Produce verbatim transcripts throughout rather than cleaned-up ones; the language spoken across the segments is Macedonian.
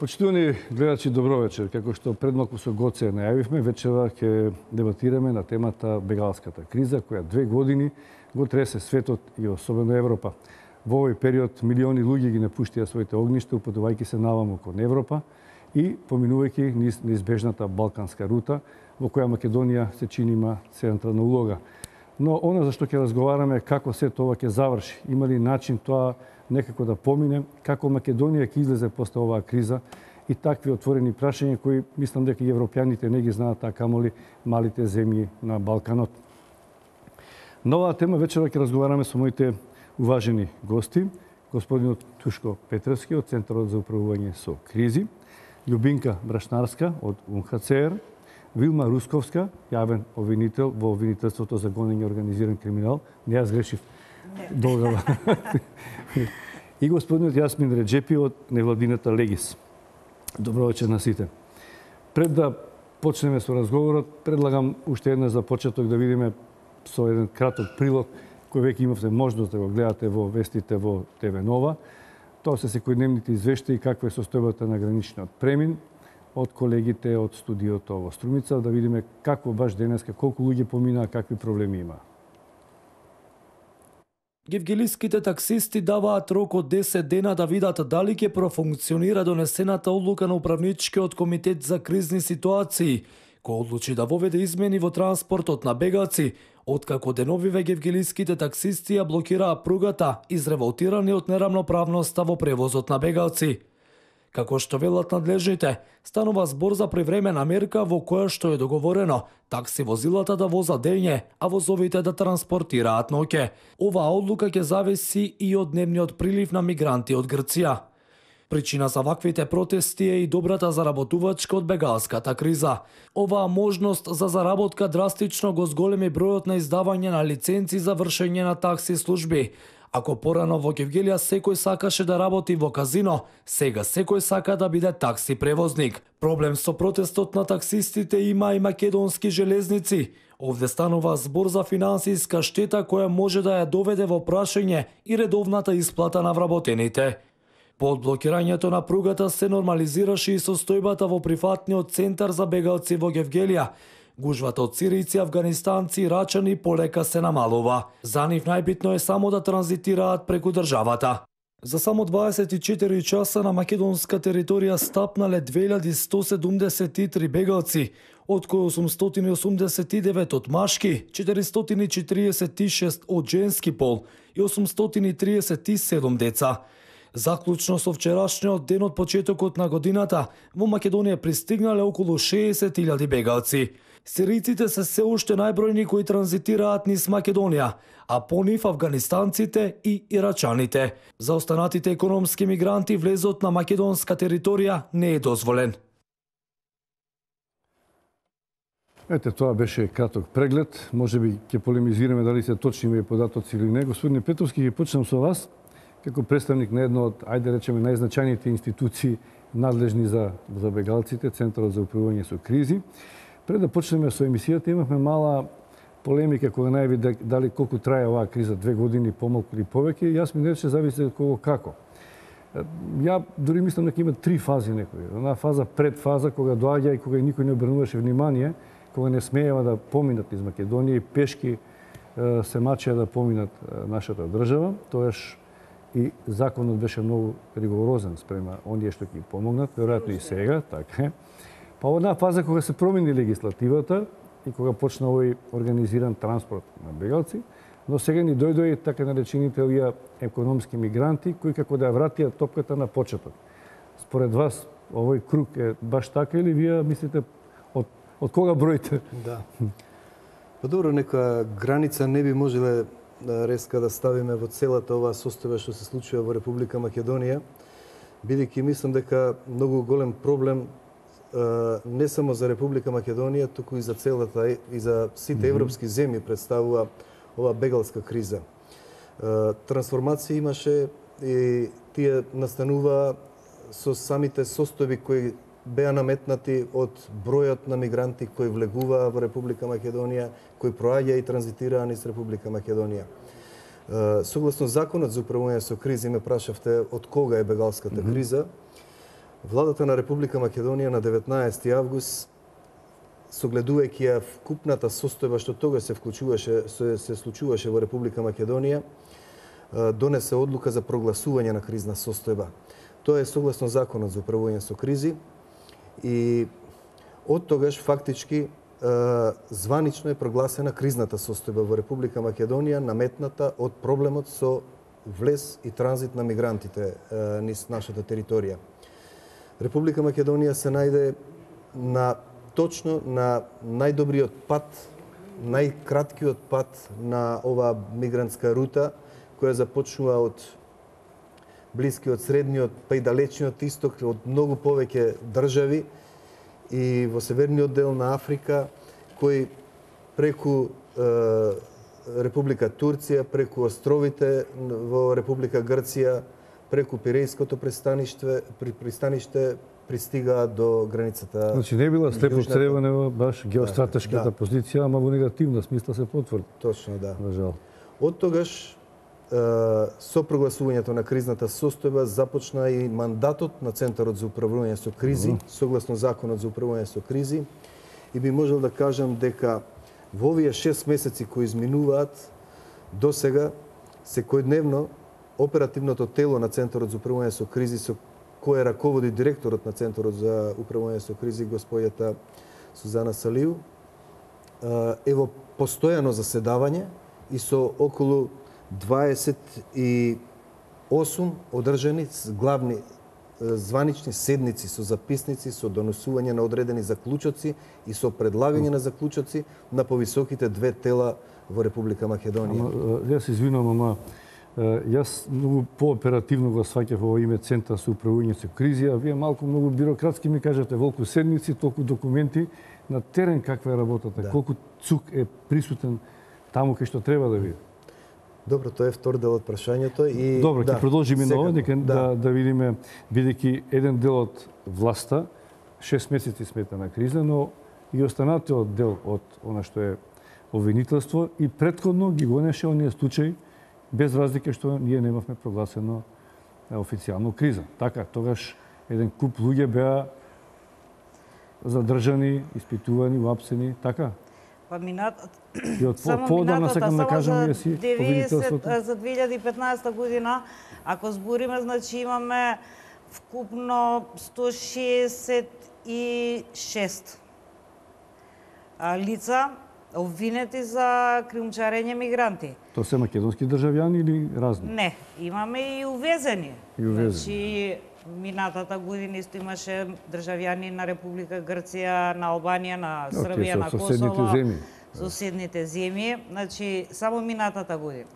Почитувани гледачи, добро вечер. Како што пред малку со Гоце најавивме, вечера ќе дебатираме на темата бегалската криза, која две години го тресе светот и особено Европа. Во овој период милиони луѓе ги напуштија своите огништа, упатувајќи се наваму кон Европа и поминувајќи низ неизбежната балканска рута, во која Македонија се чини има централна улога. Но она за што ќе разговараме како се тоа ќе заврши, има ли начин тоа некако да помине, како Македонија ќе излезе после оваа криза и такви отворени прашања кои мислам дека и европјаните не ги знаат, а камоли малите земји на Балканот. На оваа тема вечера ќе разговараме со моите уважени гости, господинот Тушко Петревски од Центарот за управување со кризи, Љубинка Брашнарска од У Н Х Ц Р, Вилма Русковска, јавен обвинител во обвинителството за гонење организиран криминал. Не ја сгрешив. Долга. И господинот Јасмин Реджепи од невладината Легис. Добро вечер на сите. Пред да почнеме со разговорот, предлагам уште една за почеток да видиме со еден краток прилог кој веќе имавте можност да го гледате во вестите во Т В Нова. Тоа се секојдневните извештаи каква е состојбата на граничниот премин од колегите од студиото во Струмица, да видиме како баш денеска, колку луѓе поминаа, какви проблеми има. Гевгелиските таксисти даваат рок од десет дена да видат дали ќе профункционира донесената одлука на Управничкиот комитет за кризни ситуации, кој одлучи да воведе измени во транспортот на бегаци, откако деновиве гевгелиските таксисти ја блокираа пругата, изреволтирани од нерамноправноста во превозот на бегалци. Како што велат надлежните, станува збор за привремена мерка во која што е договорено такси возилата да возат дење, а возовите да транспортираат ноќе. Оваа одлука ќе зависи и од дневниот прилив на мигранти од Грција. Причина за ваквите протести е и добрата заработувачка од бегалската криза. Оваа можност за заработка драстично го зголеми бројот на издавање на лиценци за вршење на такси служби. Ако порано во Гевгелија секој сакаше да работи во казино, сега секој сака да биде такси превозник. Проблем со протестот на таксистите има и македонски железници. Овде станува збор за финансиска штета која може да ја доведе во прашање и редовната исплата на вработените. По одблокирањето на пругата се нормализираше и состојбата во прифатниот центар за бегалци во Гевгелија. Гужвата од сиријци, афганистанци и рачани полека се намалува. За нив најбитно е само да транзитираат преку државата. За само дваесет и четири часа на македонска територија стапнале две илјади сто седумдесет и три бегалци, од кои осумстотини осумдесет и девет од машки, четиристотини четиридесет и шест од женски пол и осумстотини триесет и седум деца. Заклучно со вчерашниот ден од почетокот на годината, во Македонија пристигнале околу шеесет илјади бегалци. Сиријците се се уште најбројни кои транзитираат низ Македонија, а по нив афганистанците и ирачаните. За останатите економски мигранти влезот на македонска територија не е дозволен. Ете, тоа беше краток преглед. Може би ќе полемизираме дали се точни овие податоци или не. Господине Петровски, ќе почнем со вас како представник на едно од, ајде речеме, најзначајните институции надлежни за, за бегалците, Центарот за управување со кризи. Пред да почнеме со емисијата, имавме мала полемика кога најави дали колку трае оваа криза, две години, помалку или повеќе, и јас ми рече зависи од кого како. Ја дури мислам дека има три фази некои. Една фаза пред фаза кога доаѓа и кога никој не обрнуваше внимание, кога не смеева да поминат из Македонија и пешки се мачеа да поминат нашата држава, тоаш и законот беше многу ригорозен спрема оние што ќе помогнат, веројатно и сега, така е. Па една фаза кога се промени легислативата и кога почна овој организиран транспорт на бегалци, но сега ни дојдоа и така наречените овие економски мигранти кои како да ја вратија топката на почеток. Според вас овој круг е баш така или вие мислите од од кога броите? Да. Па добро, нека граница не би можеле резка да ставиме во целата оваа состојба што се случува во Република Македонија, бидејќи мислам дека многу голем проблем не само за Република Македонија, туку и за целата и за сите европски земји представува оваа бегалска криза. Трансформација имаше и тие настанува со самите состојби кои беа наметнати од бројот на мигранти кои влегуваа во Република Македонија, кои проаѓаа и транзитираа низ Република Македонија. Согласно законот за управување со кризи, ме прашавте од кога е бегалската криза. Владата на Република Македонија на деветнаесети август, согледувајќи ја вкупната состојба што тогаш се вклучуваше, се, се случуваше во Република Македонија, донесе одлука за прогласување на кризна состојба. Тоа е согласно Законот за управување со кризи и од тогаш фактички званично е прогласена кризната состојба во Република Македонија, наметната од проблемот со влез и транзит на мигрантите низ нашата територија. Република Македонија се најде на точно на најдобриот пат, најкраткиот пат на оваа мигрантска рута, која започнува од блискиот, средниот, па и далечниот исток, од многу повеќе држави и во северниот дел на Африка, кој преку е, Република Турција, преку островите во Република Грција, преку Пирејското пристаниште, пристаниште пристигаа до границата. Значи не била слепо цревена баш геостратешката да, да. позиција, ама во негативна смисла се потврди. Точно, да. За жал. Од тогаш со прогласувањето на кризната состојба започна и мандатот на Центарот за управување со кризи, mm -hmm. согласно Законот за управување со кризи, и би можел да кажам дека во овие шест месеци кои изминуваат до сега, секојдневно оперативното тело на Центарот за управување со кризи, со кој раководи директорот на Центарот за управување со кризи, господјата Сузана Салиу, е во постојано заседавање и со околу дваесет и осум одржани главни званични седници со записници, со донесување на одредени заклучоци и со предлагање на заклучоци на повисоките две тела во Република Македонија. Ама, јас извинувам, ама јас многу пооперативно го сваќав во име Центар за управување со кризи, а вие малку многу бирократски ми кажете волку седници, толку документи, на терен каква е работата, да. Колку цук е присутен таму кај што треба да биде. Добро, тоа е втор дел од прашањето и добро, ќе да, продолжиме на ова дека да. да да видиме, бидејќи еден дел од власта шест месеци смета на криза, но и останатиот дел од она што е обвинителство и претходно ги гонеше оние случаи без разлика што ние немавме прогласено официјално криза. Така, тогаш еден куп луѓе беа задржани, испитувани, уапсени, така? Па минат... И од поодамна сакам да кажам и си обвинителството. За две илјади и петнаесета година, ако збориме, значи имаме вкупно сто шеесет и шест лица обвинети за криумчарење мигранти. Тоа се македонски државјани или разни? Не, имаме и увезени. И увезени. Значи, минатата година исто имаше државјани на Република Грција, на Албанија, на Србија, на Косово, соседните земји. Соседните земји, значи само минатата година.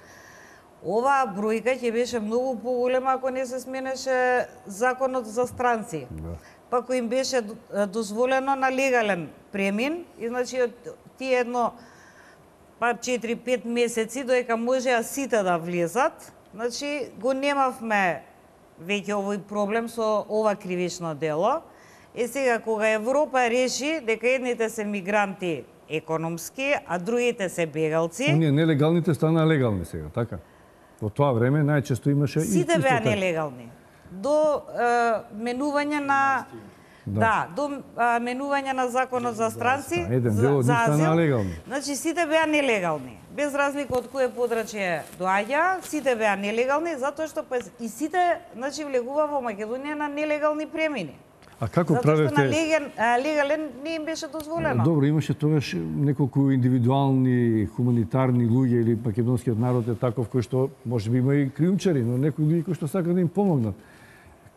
Оваа бројка ќе беше многу поголема ако не се сменеше законот за странци. Да. Па кој им беше дозволено на легален премин, и значи тие едно па четири-пет месеци доека можеа сите да влезат, значи го немавме веќе овој проблем со ова кривично дело. Е сега кога Европа реши дека едните се мигранти економски, а другите се бегалци. Оние нелегалните станаа легални сега, така? Во тоа време најчесто имаше сите беа нелегални. До е, менување на да, да до е, менување на законот за странци, еден дел од нив станаа легални. Значи сите беа нелегални. Без разлика од кое подрачје доаѓа, сите беа нелегални затоа што па, и сите значи влегува во Македонија на нелегални премини. А како затоа правевте? Затоа што на легален, легален не им беше дозволено. Добро, имаше тогаш неколку индивидуални хуманитарни луѓе или македонскиот народ е таков кој што можеби има и криумчари, но некои луѓе кои што сакаат да им помогнат.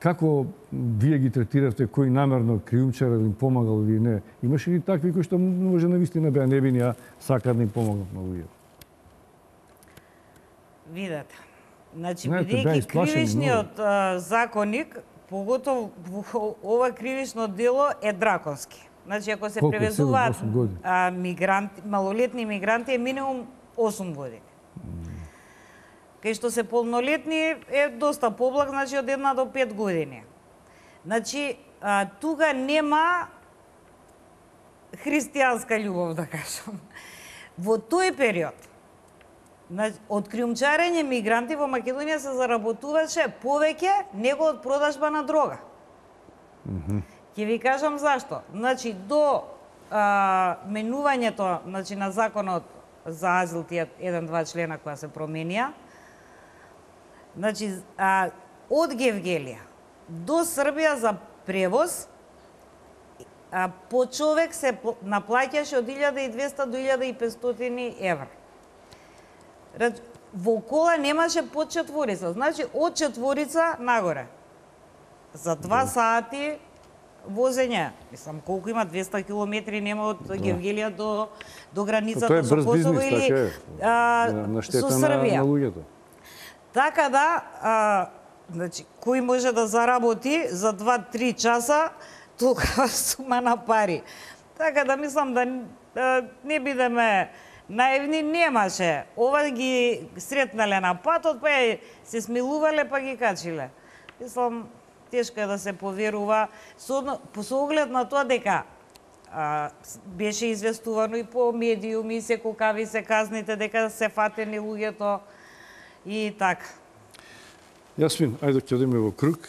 Како вие ги третиравте, кој намерно криумчар да им помагал или не? Имаше ли такви кои што може навистина беа невини, а сакаат да им помогнат на луѓе? Видете. Значи, бидејќи кривичниот а, законник, поготово ова кривично дело е драконски. Значи, ако се превезуваат а, мигранти, малолетни мигранти, е минимум осум години. Mm. Кај што се полнолетни е доста поблаг, значи од една до пет години. Значи, а, тука нема христијанска љубов, да кажам. Во тој период, од криумчарење мигранти во Македонија се заработуваше повеќе него од продажба на дрога. Mm-hmm. Ќе ви кажам зашто. Значи, до а, менувањето значи, на законот за азил, тие еден-два члена која се променија, значи, а, од Гевгелија до Србија за превоз, а, по човек се наплаќаше од илјада и двесте до илјада и петстотини евра. Во кола немаше под четворица, значи од четворица нагоре. За два сати возење, мислам колку има двесте километри нема од Гевгелија до до границата со Косово или а, на со Србија. На, на луѓето. Така да, а, значи кој може да заработи за два-три часа толкова сума на пари. Така да мислам да, да не бидеме наивни, немаше. Ова ги сретнале на патот, па се смилувале, па ги качиле. Мислам, тешко е да се поверува, со, со оглед на тоа дека а, беше известувано и по медиуми, се колкави се казните, дека се фатени луѓето и така. Јасмин, ајде ќе одиме во круг.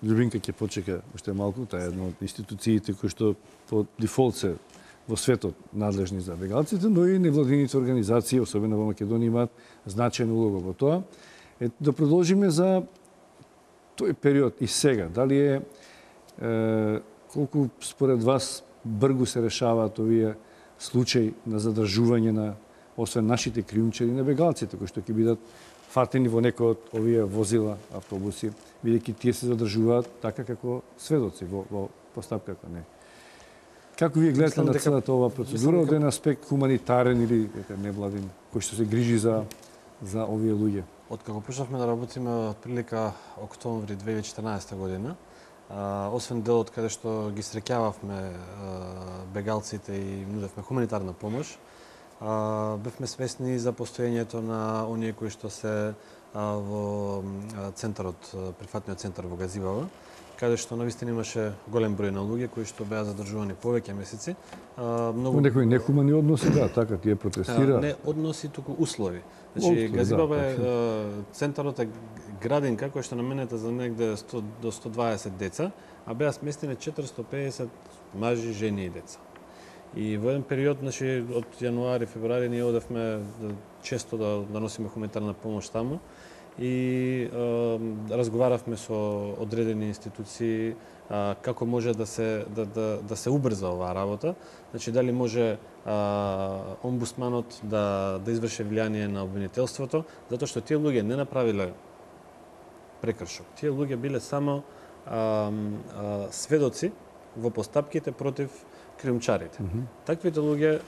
Љубинка ќе почека уште малку, таа е една од институциите кои што по дефолт се во светот надлежни за бегалците, но и невладините организации, особено во Македонија, имаат значајна улога во тоа. Е, да продолжиме за тој период и сега. Дали е, е колку според вас бргу се решаваат овие случаи на задржување на освен нашите криумчари на бегалците кои што ќе бидат фатени во некој од овие возила, автобуси, бидејќи тие се задржуваат така како сведоци во, во постапката, не. Како вие гледате на целата оваа процедура од еден аспект хуманитарен или дека невладин, кој што се грижи за за овие луѓе? Откако почнавме да работиме од прилика октомври две илјади и четрнаесета година, а, освен делот каде што ги среќававме бегалците и нудевме хуманитарна помош, а, бевме свесни за постоењето на оние кои што се а, во центарот, прифатниот центар во Газибава, каде што навистина имаше голем број на луѓе кои што беа задржувани повеќе месеци. А, многу некои нехумани односи, да, така тие протестира. Не односи, туку услови. Значи Газибава е да, центарот е градинка која што наменета за негде сто до сто дваесет деца, а беа сместени четиристо педесет мажи, жени и деца. И во еден период, значи од јануари, февруари ние одевме често да, да носиме хуманитарна помош таму и е, разговаравме со одредени институции е, како може да се да, да, да се убрза оваа работа. Значи дали може а, омбудсманот да да изврши влијание на обвинителството, затоа што тие луѓе не направиле прекршок. Тие луѓе биле само а, а, сведоци во постапките против криумчарите. Mm -hmm. Таквите луѓе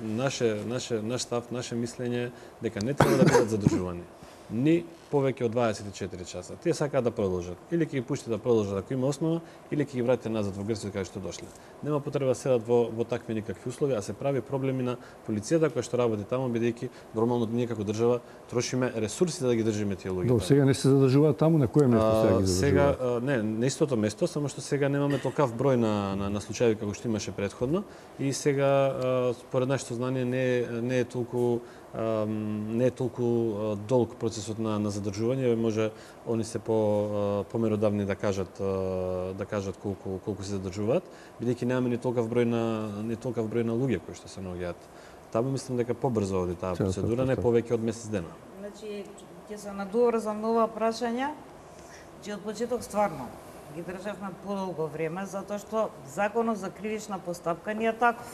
наше наше наш став, наше мислење дека не треба да бидат задржувани ни повеќе од дваесет и четири часа. Тие сакаат да продолжат. Или ќе ги пуштите да продолжат ако има основа, или ќе ги вратите назад во Грција каде што дошле. Нема потреба да седат во во такви никакви услови, а се прави проблеми на полицијата која што работи таму, бидејќи нормално ние како држава трошиме ресурси да ги држиме тие луѓе. До сега не се задржуваат таму, на кое место сега ги задржуваат? Сега не, на истото место, само што сега немаме толкав број на на, на случаи како што имаше претходно и сега според нашето знание не е, не е толку не е толку долг процесот на, на задржување, може они се по померодавни да кажат да кажат колку колку се задржуваат, бидејќи немаме ни толкав број на не толкав број на луѓе кои што се наоѓаат. Таму мислам дека побрзо оди таа процедура, не повеќе од месец дена. Значи ќе се надоврзам на ова прашање, че од почеток стварно ги државме подолго време затоа што законот за кривична постапка не е таков.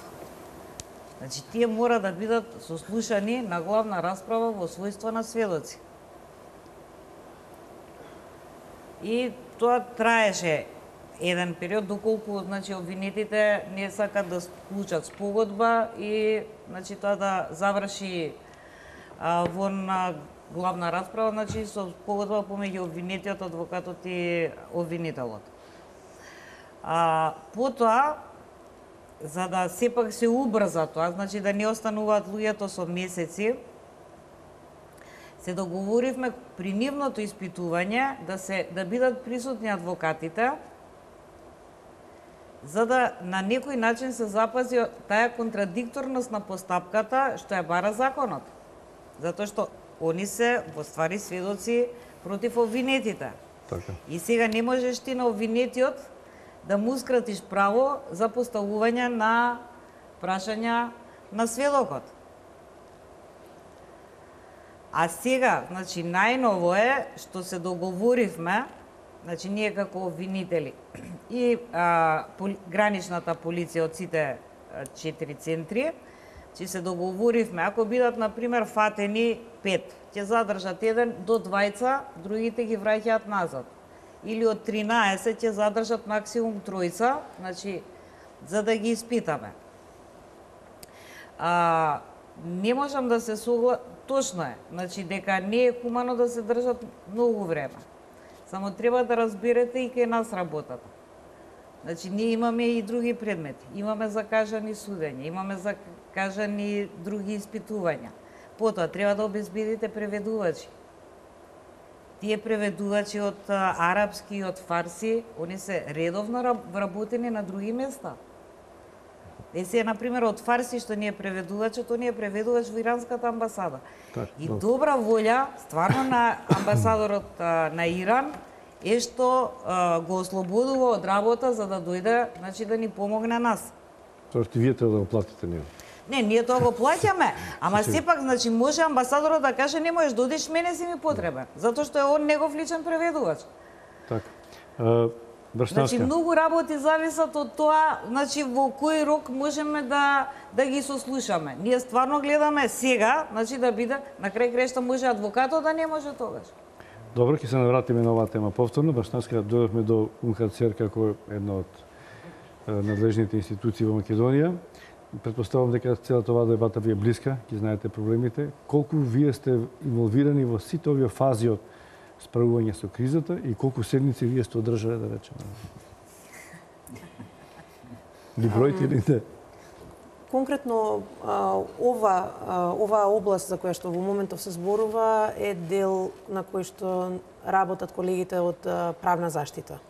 Значи, тие мора да бидат сослушани на главна расправа во својство на сведоци. И тоа траеше еден период, доколку значи, обвинетите не сакат да склучат спогодба и значи, тоа да заврши а, во на главна расправа, значи, со спогодба помеѓу обвинетиот, адвокатот и обвинителот. А, потоа, за да сепак се убрза тоа, значи да не остануваат луѓето со месеци, се договоривме при нивното испитување да се да бидат присутни адвокатите, за да на некој начин се запази таа контрадикторност на постапката што ја бара законот. Затоа што они се во ствари сведоци против обвинетите. Така. И сега не можеш ти на обвинетиот да му скратиш право за поставување на прашања на сведокот. А сега, значи, најново е што се договоривме, значи, ние како обвинители и а, поли, граничната полиција од сите а, четири центри, че се договоривме, ако бидат, например, фатени пет, ќе задржат еден до двајца, другите ги враќаат назад. Или од тринаесет ќе задржат максимум тројца, значи, за да ги испитаме. А, не можам да се согла... Точно е, значи, дека не е хумано да се држат многу време. Само треба да разберете и кај нас работата. Значи, ние имаме и други предмети. Имаме закажани судења, имаме закажани други испитувања. Потоа, треба да обезбедите преведувачи. Тие преведувачи од арапски и од фарси, они се редовно вработени на други места. Есе, например, од фарси што ни е преведувачот, тој ни е преведувач во иранската амбасада. Так, и добре. Добра волја, стварно, на амбасадорот на Иран е што а, го ослободува од работа за да дојде, значи, да ни помогне нас. Тоа што вие треба да го платите него. Не, ние тоа го плаќаме, ама сепак, значи, може амбасадорот да каже не можеш додиш, мене си ми потребен, затоа што е он негов личен преведувач. Така. Uh... Значи, многу работи зависат од тоа, значи, во кој рок можеме да, да ги сослушаме. Ние стварно гледаме сега, значи, да биде, на крај крајшта може адвокатот, да не може тогаш. Добро, ќе се навратиме на оваа тема повторно. Башнаска, дојдовме до У Н Х Ц Р како една од надлежните институции во Македонија. Претпоставувам дека целата оваа дебата ви е блиска, ќе знаете проблемите. Колку вие сте инволвирани во сите овие фази од справување со кризата и колку седници вие сте одржале, да речеме? Ли бројте или не? Конкретно, ова, оваа област за која што во моментов се зборува е дел на кој што работат колегите од правна заштита.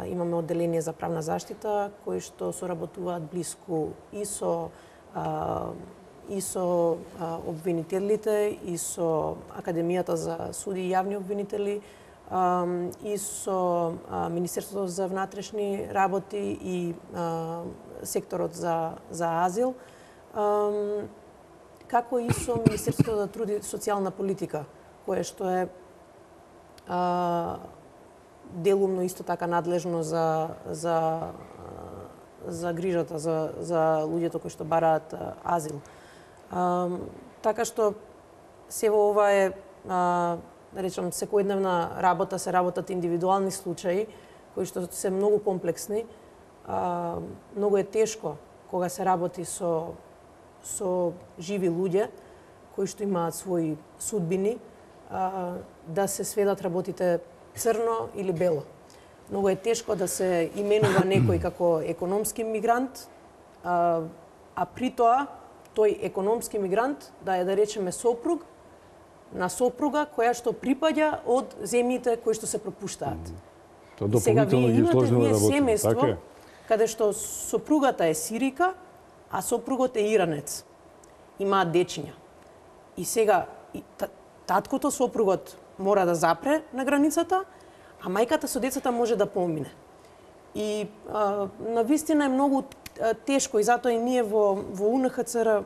Имаме одделение за правна заштита кои што соработуваат блиску и со и со а, обвинителите, и со Академијата за суди и јавни обвинители, а, и со а, Министерството за внатрешни работи и а, секторот за, за азил, а, како и со Министерството за труд и социјална политика, кое што е а, делумно исто така надлежно за, за, за грижата за, за луѓето кои што бараат азил. А, така што се во ова е, а, да речам, секојдневна работа, се работат индивидуални случаи, кои што се многу комплексни. А, многу е тешко кога се работи со, со живи луѓе, кои што имаат своји судбини, а, да се сведат работите црно или бело. Многу е тешко да се именува некој како економски мигрант, а, а при тоа тој економски мигрант да е, да речеме, сопруг на сопруга која што припаѓа од земјите кои што се пропуштаат. Тоа дополнително ги сложно да работи. Семејство, така е. Каде што сопругата е сирика, а сопругот е иранец. Имаат дечиња. И сега и таткото, сопругот мора да запре на границата, а мајката со децата може да помине. И а, навистина е многу тешко и затоа и ние во, во У Н Х Ц Р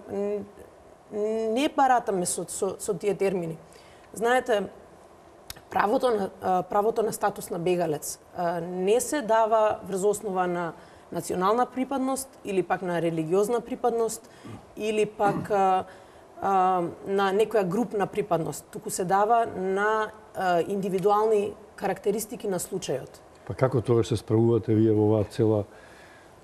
не баратаме со, со, со тие термини. Знаете, правото на, правото на статус на бегалец не се дава врз основа на национална припадност или пак на религиозна припадност или пак а, а, на некоја групна припадност. Туку се дава на а, индивидуални карактеристики на случајот. Па како тогаш се справувате вие во оваа цела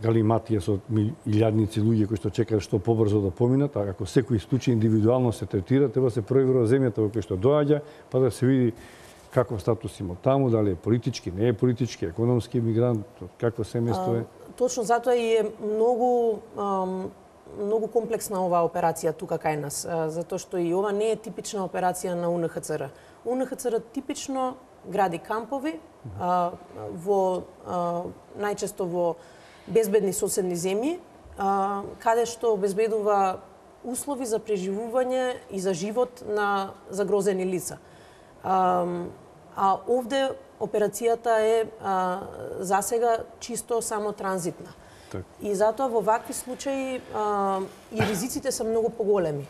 галиматија со илјадници луѓе кои што чекаат што побрзо да поминат, а ако секој случај индивидуално се третира, треба се провери во земјата во која што доаѓа, па да се види каков статус има таму, дали е политички, не е политички, економски мигрант, какво семејство е. А, точно затоа и е многу ам, многу комплексна оваа операција тука кај нас, а, затоа што и ова не е типична операција на У Н Х Ц Р. У Н Х Ц Р типично гради кампови а, во а, најчесто во безбедни соседни земји, а, каде што обезбедува услови за преживување и за живот на загрозени лица. А, А овде операцијата е а, засега чисто само транзитна. Так. И затоа во вакви случаи а, и ризиците се многу поголеми.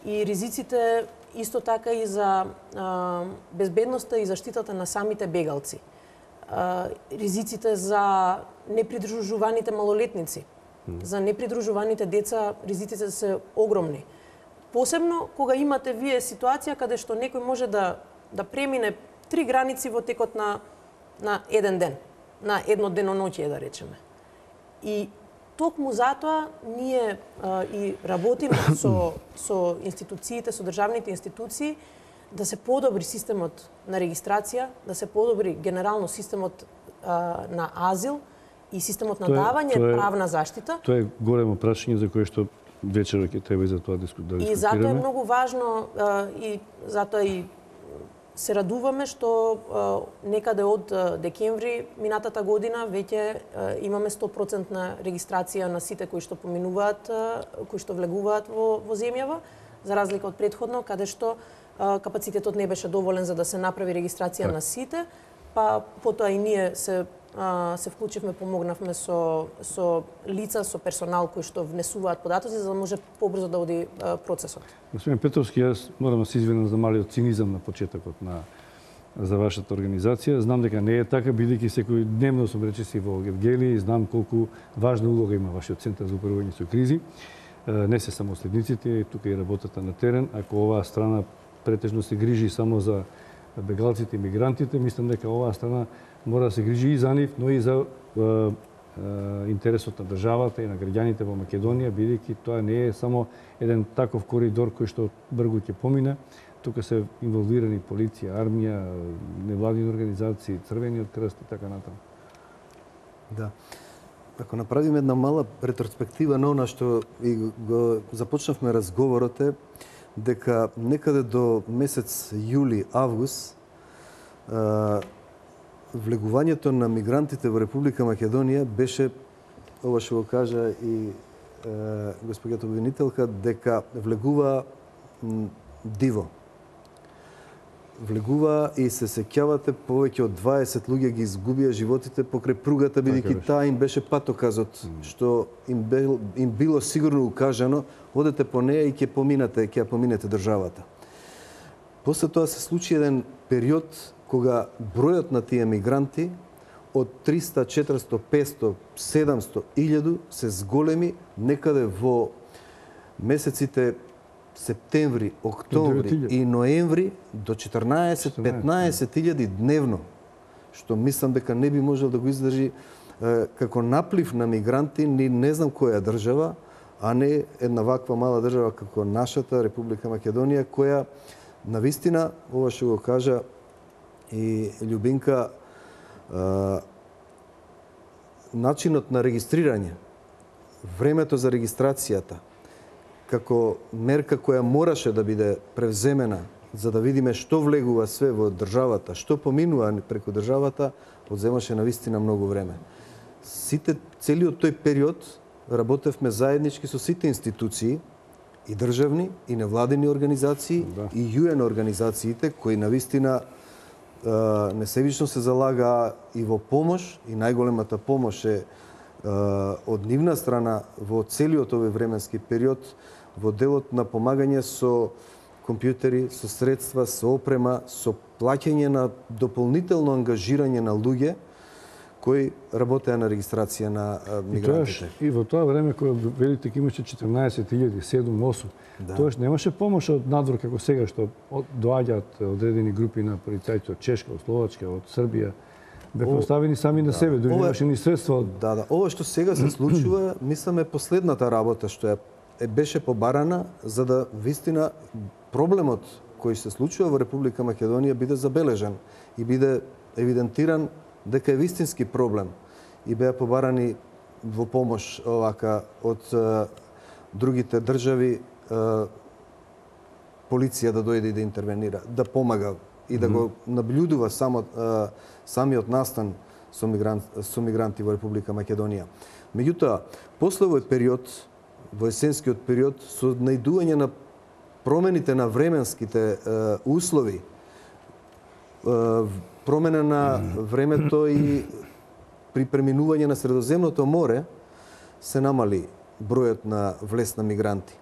И ризиците исто така и за а, безбедноста и заштитата на самите бегалци. А, ризиците за непридружуваните малолетници, mm. за непридружуваните деца, ризиците се огромни. Посебно кога имате вие ситуација каде што некој може да да премине три граници во текот на на еден ден, на едно деноноќие да речеме. И токму затоа ние а, и работиме со со институциите, со државните институции да се подобри системот на регистрација, да се подобри генерално системот а, на азил и системот на тоа е, давање тоа е, правна заштита. Тоа е големо прашање за кое што вечера ќе треба и за тоа да дискутираме. И затоа е многу важно а, и затоа и се радуваме што а, некаде од а, декември минатата година веќе а, имаме сто проценти регистрација на сите кои што поминуваат, а, кои што влегуваат во, во земјава, за разлика од претходно, каде што а, капацитетот не беше доволен за да се направи регистрација так. на сите, па потоа и ние се а, се вклучивме, помогнавме со со лица, со персонал кои што внесуваат податоци за да може побрзо да оди а, процесот. Господин Петровски, јас морам да се извинам за малиот цинизам на почетокот на за вашата организација. Знам дека не е така, бидејќи секој дневно сум речиси во Гевгели и знам колку важна улога има вашиот центар за управување со кризи. Не се само следниците, тука и работата на терен. Ако оваа страна претежно се грижи само за бегалците и мигрантите, мислам дека оваа страна мора да се грижи и за нив, но и за е, е, интересот на државата и на граѓаните во Македонија, бидејќи тоа не е само еден таков коридор кој што брзо ќе помине. Тука се инволвирани полиција, армија, невладини организации, Црвениот крст и така натаму. Да. Ако направиме една мала ретроспектива на она што и го започнавме разговорот е дека некаде до месец јули, август влегувањето на мигрантите во Република Македонија беше, ова што го кажа и е, господјата обвинителка, дека влегува диво. Влегува и се сеќавате повеќе од дваесет луѓе ги изгубија животите покрај пругата, бидејќи таа им беше патоказот, што им, бил, им било сигурно укажано, одете по неја и ќе поминете, ќе поминете државата. После тоа се случи еден период кога бројот на тие мигранти од триста, четиристо, петсто, седумсто, илјаду се зголеми некаде во месеците септември, октомври и ноември до четрнаесет, петнаесет илјади дневно, што мислам дека не би можел да го издржи е, како наплив на мигранти ни не знам која држава, а не една ваква мала држава како нашата Република Македонија, која навистина, ова што го кажа и Љубинка, е, начинот на регистрирање, времето за регистрацијата, како мерка која мораше да биде превземена за да видиме што влегува све во државата, што поминува преку државата, одземаше навистина многу време. Сите, целиот тој период работевме заеднички со сите институции, и државни, и невладини организации, да. И ю ен организациите, кои навистина несебично се залага и во помош, и најголемата помош е од нивна страна во целиот овој временски период, во делот на помагање со компјутери, со средства, со опрема, со плаќање на дополнително ангажирање на луѓе кои работеа на регистрација на мигрантите. И, и во тоа време кога велите дека имаше четрнаесет илјади, седум осум, да. Тоаш немаше помош од надвор како сега што доаѓаат одредени групи на полицајци од Чешка, од Словачка, од Србија. Бе поставени сами на да. себе, дури немаше ни средства од... Да, да. Ова што сега се случува, мислам е последната работа што е, е беше побарана за да вистина проблемот кој се случува во Република Македонија биде забележан и биде евидентиран дека е вистински проблем и беа побарани во помош овака од е, другите држави е, полиција да дојде и да интервенира, да помага и да го наблюдува само е, самиот настан со мигрант, со мигранти во Република Македонија. Меѓутоа, после овој период, во есенскиот период, со најдување на промените на временските е, услови, промена на времето и при преминување на Средоземното море се намали бројот на влез на мигранти.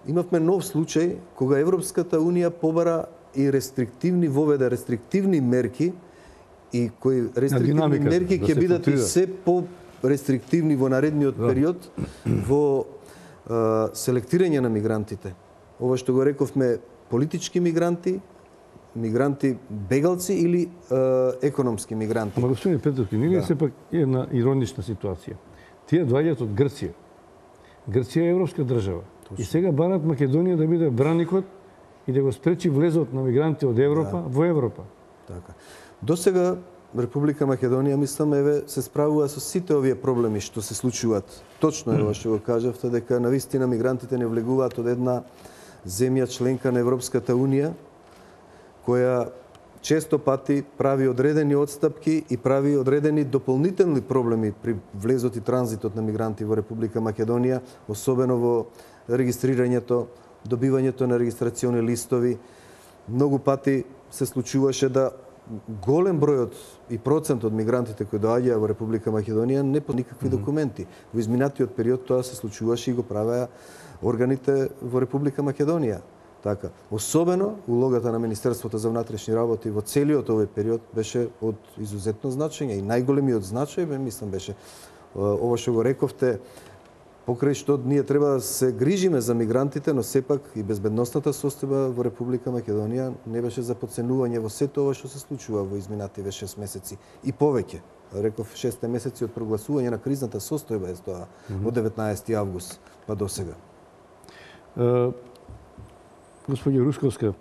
Имавме нов случај кога Европската Унија побара и рестриктивни воведе рестриктивни мерки и кои рестриктивни мерки ќе бидат и се по рестриктивни во наредниот период во е, селектирање на мигрантите. Ова што го рековме политички мигранти, мигранти бегалци или е, економски мигранти. Ама господин Петровски, нели да. Сепак е една иронична ситуација. Тие доаѓаат од Грција. Грција е европска држава. Точно. И сега барат Македонија да биде браникот и да го спречи влезот на мигранти од Европа да. Во Европа. Така. До сега Република Македонија, мислам, еве, се справува со сите овие проблеми што се случуваат. Точно е ова што го кажавте, дека навистина мигрантите не влегуваат од една земја членка на Европската Унија, која често пати прави одредени отстапки и прави одредени дополнителни проблеми при влезот и транзитот на мигранти во Република Македонија, особено во регистрирањето, добивањето на регистрациони листови. Многу пати се случуваше да голем бројот и процент од мигрантите кои доаѓаа во Република Македонија не по никакви документи. Во изминатиот период тоа се случуваше и го правеа органите во Република Македонија. Така, особено улогата на Министерството за внатрешни работи во целиот овој период беше од изузетно значење и најголемиот значај, бе, мислам, беше ова што го рековте, покрај што ние треба да се грижиме за мигрантите, но сепак и безбедносната состојба во Република Македонија не беше за подценување во сето ова што се случува во изминативе шест месеци и повеќе. Реков шест месеци од прогласување на кризната состојба е тоа, mm -hmm. од деветнаесети август па до сега. Uh... Господја Русковска,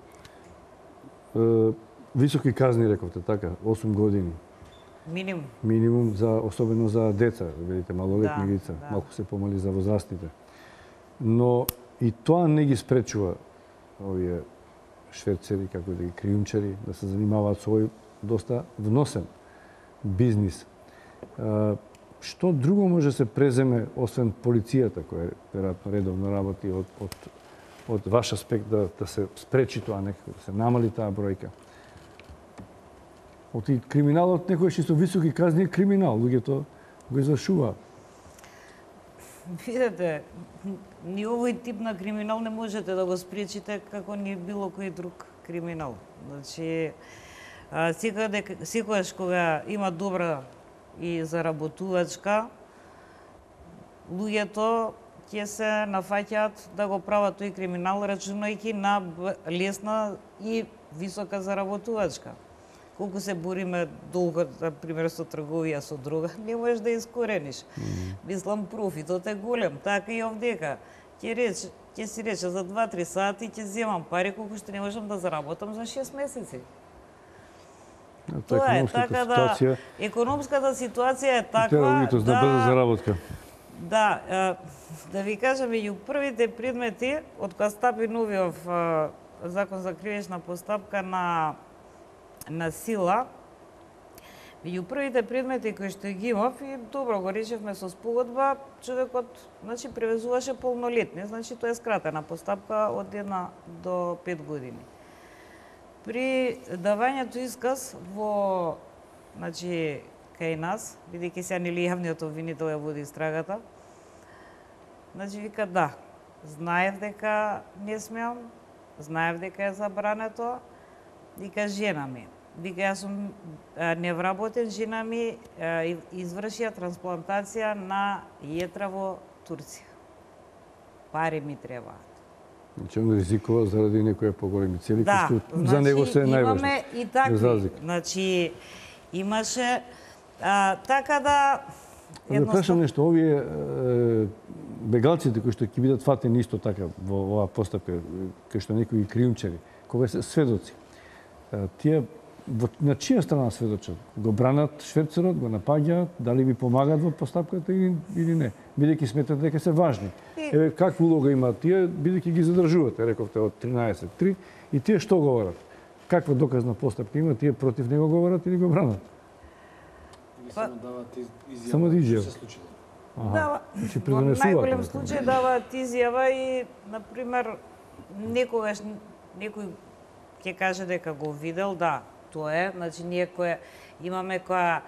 е, високи казни рековте, така, осум години. Минимум. Минимум, за, особено за деца, видите, малолетни да, лица, да. малку се помали за возрастните. Но и тоа не ги спречува овие шверцери, како да ги криумчари, да се занимаваат со овој доста вносен бизнис. Е, што друго може да се преземе, освен полицијата, која веројатно редовно работи од, од од ваш аспект да, да се спречи тоа некако, да се намали таа бројка? Од и криминалот некој што високи казни е криминал, луѓето го извршуваат. Видете, ни овој тип на криминал не можете да го спречите како ни било кој друг криминал. Значи, секогаш кога има добра и заработувачка, луѓето ќе се нафаќаат да го прават тој криминал, рачунајќи на лесна и висока заработувачка. Колку се бориме долго, например, со трговија со дрога, не можеш да искорениш. Mm -hmm. Мислам, профитот е голем. Така и овдека. Ќе реч, ќе си рече за два-три сати ќе земам пари колку што не можам да заработам за шест месеци. Тоа е, така да, економската ситуација е таква да... да брза заработка. Да, да ви кажам, меѓу првите предмети, од кога стапи новиот закон за кривична постапка на, на сила, меѓу првите предмети кои што ги имав, и добро го решивме со спогодба, човекот, значи, превезуваше полнолетни, значи тоа е скратена постапка од една до пет години. При давањето исказ во, значи, кај нас, бидејќи сега нели јавниот обвинител ја води истрагата, значи вика да, знаев дека не смеам, знаев дека е забрането, вика жена ми. Вика јас сум невработен, жена ми извршија трансплантација на јетра во Турција. Пари ми требаат. Значи он ризикува заради некои поголеми цели, да, што значи, за него се е најважно. Имаме и такви. Значи, имаше а, така да едноставно... Да прашам нешто, овие е, бегалците кои што ќе бидат фатени исто така во оваа постапка, кои што некои криумчари, кога се сведоци, тие во, на чија страна сведочат? Го бранат шверцерот, го напаѓаат, дали ви помагаат во постапката или, или не? Бидејќи сметат дека се важни. И... Еве, каква улога имаат тие, бидејќи ги задржувате, рековте, од тринаесет три, и тие што говорат? Каква доказна постапка има, тие против него говорат или го бранат? Само даваат изјава. Само изјава. Се случило. Дава, значи, во најголем случај даваат изјава и, например, некогаш некој ќе каже дека го видел, да, тоа е, значи ние која имаме која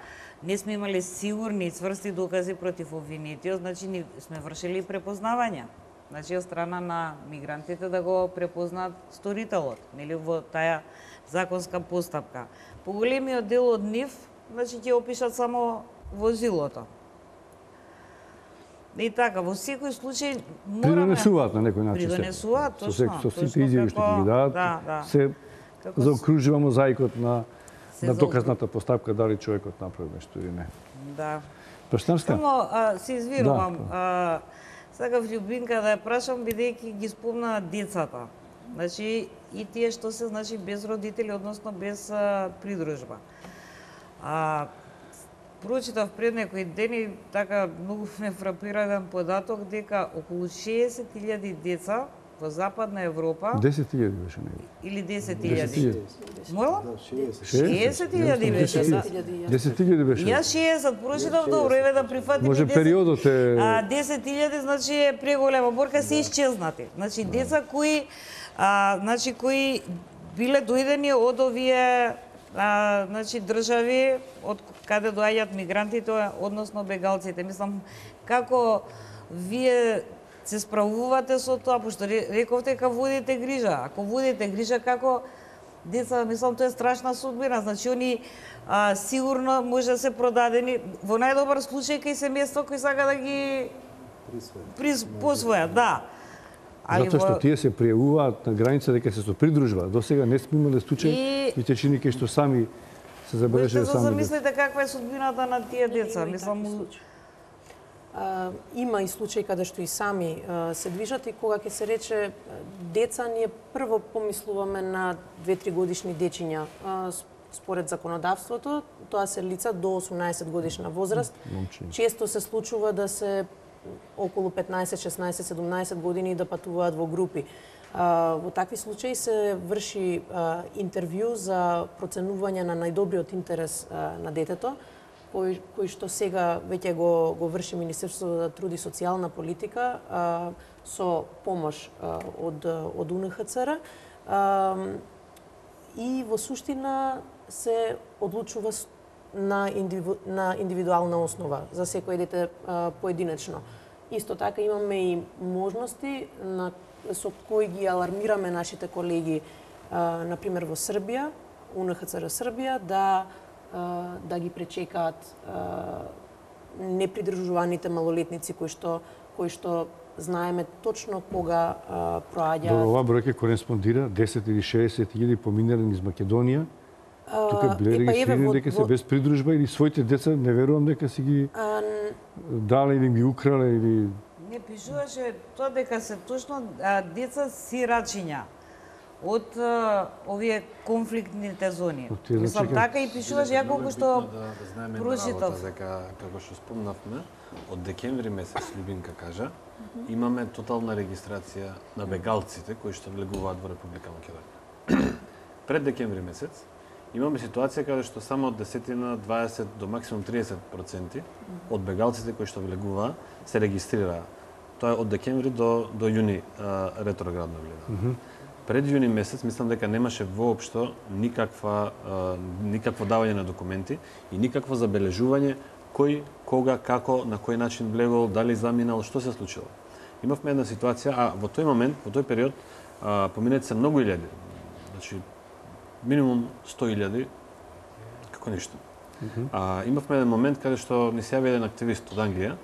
не сме имали сигурни и цврсти докази против обвинетиот, значи ни сме вршили препознавање. Значи од страна на мигрантите да го препознаат сторителот, нели во таа законска постапка. Поголемиот дел од нив, значи ќе опишат само возилото. И така, во секој случај мораме придонесуваат на некој начин. Придонесуваат, точно. Со сите изјави што ќе ги дадат, да, да. се Како заокружува мозаикот на се на заокру- доказната постапка дали човекот направи нешто или не. Да. Пештарска? Само а, се извинувам. Да. А, сакав Љубинка да ја прашам бидејќи ги спомна децата. Значи и тие што се значи без родители, односно без а, придружба. А прочитав пред некои дени, така многу ме фрапира еден податок дека околу шеесет илјади деца во Западна Европа десет илјади беше него. или десет десет илјади. илјади. Мола? Да, шеесет. шеесет илјади беше. Да. десет илјади беше. Јас шеесет прочитав, добро, еве да прифатиме Може десет. периодот е А десет илјади значи е преголема борка, се исчезнати. Значи деца кои а, значи кои биле дојдени од овие а, значи држави од каде доаѓаат мигрантите, односно бегалците. Мислам како вие се справувате со тоа, пошто рековте дека водите грижа. Ако водите грижа како деца, мислам тоа е страшна судбина. Значи они а, сигурно може да се продадени во најдобар случај кај семејство кои сака да ги приз посвојат, да. затоа што тие се пријавуваат на граница дека се со придружба. До сега не сме имале случај И- и те чини кај што сами се Можете забележале да сами. деца. замислите каква е судбината на тие деца. Има и Мислам, такви случаи. А, има и случаи каде што и сами а, се движат и кога ќе се рече а, деца, ние прво помислуваме на две-три годишни дечиња. А, с- според законодавството, тоа се лица до осумнаесет годишна возраст. Момчиња. Често се случува да се околу петнаесет, шеснаесет, седумнаесет години да патуваат во групи. А, во такви случаи се врши а, интервју за проценување на најдобриот интерес а, на детето, кој, кој што сега веќе го, го врши Министерството за труд и социјална политика а, со помош а, од, од У Н Х Ц Р. А, и во суштина се одлучува с- на, индивиду, на индивидуална основа за секој дете а, поединечно. Исто така имаме и можности на, со кои ги алармираме нашите колеги, а, например во Србија, У Н Х Ц Р Србија, да а, да ги пречекаат а, непридружуваните малолетници кои што кои што знаеме точно кога а, Добро, проаѓаат. оваа бројка кореспондира десет или шеесет илјади поминали низ Македонија. Тука биле Епа, еве, регистрирани во- дека се во- без придружба или своите деца, не верувам дека си ги А, дале или ги украле или не пишуваше тоа дека се точно а, деца сирачиња од а, овие конфликтните зони. Од тие, Мислам, значи, така и пишуваше, ја колку што да, да знаеме една прочитав. работа, дека како што спомнавме, од декември месец Љубинка кажа, имаме тотална регистрација на бегалците кои што влегуваат во Република Македонија. Пред декември месец имаме ситуација каде што само од десетина, дваесет до максимум триесет проценти од бегалците кои што влегуваа се регистрираа. Тоа е од декември до до јуни а, ретроградно гледано. Пред јуни месец мислам дека немаше воопшто никаква а, никакво давање на документи и никакво забележување кој, кога, како, на кој начин влегол, дали заминал, што се случило. Имавме една ситуација, а во тој момент, во тој период, а, поминати се многу илјади. Значи минимум сто илјади како ништо. А, имавме еден момент каде што ни се јави еден активист од Англија,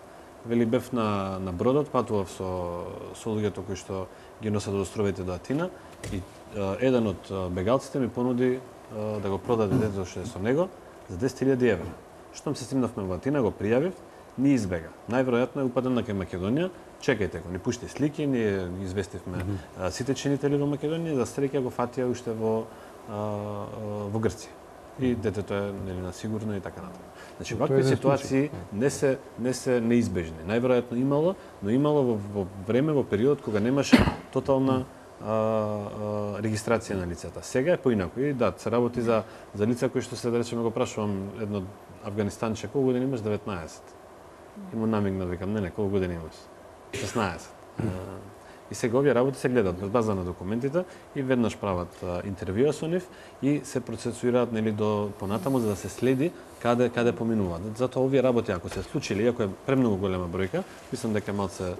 вели бев на на бродот, патував со со луѓето кои што ги носат од островите до Атина и а, еден од а, бегалците ми понуди а, да го продаде детето што е со него за десет илјади евра. Штом се стигнавме во Атина, го пријавив, ни избега. Најверојатно е упаден на кај Македонија. Чекајте го, ни пушти слики, ние ги известивме mm -hmm. сите чинители во Македонија, за среќа го фатија уште во а, а, во Грција. И детето е нели на сигурно и така натаму. Значи Тоа е вакви еден ситуации не се не се неизбежни. Најверојатно имало, но имало во, во време во период кога немаше тотална а, а, регистрација на лицата. Сега е поинаку. И да, се работи за за лица кои што се да речеме го прашувам едно Афганистанче, колку години имаш? деветнаесет. И му намигна, викам, не, не, колку години имаш? шеснаесет. И сега овие работи се гледаат на база на документите и веднаш прават интервјуа со нив и се процесуираат нели до понатаму за да се следи каде каде поминуваат. Затоа овие работи ако се случили, иако е премногу голема бројка, мислам дека малце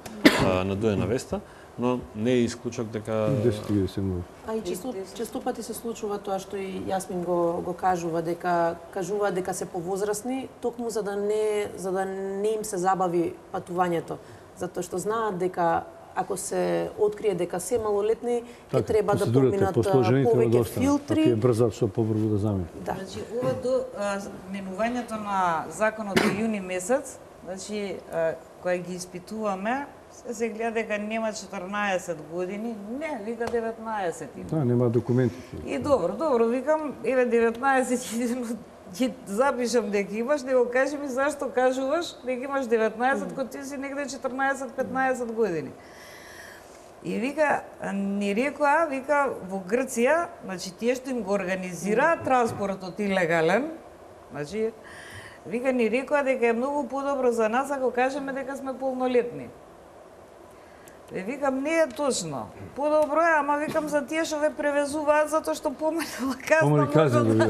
надуена веста, но не е исклучок дека десет едесет А и често, често пати се случува тоа што и Јасмин го го кажува дека кажува дека се повозрасни токму за да не за да не им се забави патувањето, затоа што знаат дека ако се открие дека се малолетни, ќе треба да поминат повеќе филтри. Ако е брза, што побрзо да замине. Да. Значи, ова до менувањето на законот до јуни месец, значи, кога ги испитуваме, се гледа дека нема четрнаесет години, не, вика деветнаесет има. Да, нема документи. И добро, добро, викам, еве деветнаесет, ќе запишам дека имаш, да го кажи ми зашто кажуваш дека имаш деветнаесет, кога ти си негде четрнаесет петнаесет години. И вика, ни рекоа, вика, во Грција, значи тие што им го организира транспортот илегален, значи, вика, ни рекоа дека е многу подобро за нас ако кажеме дека сме полнолетни. Е, викам, не е точно. Подобро е, ама викам за тие што ве превезуваат затоа што помалила казна Помали казна да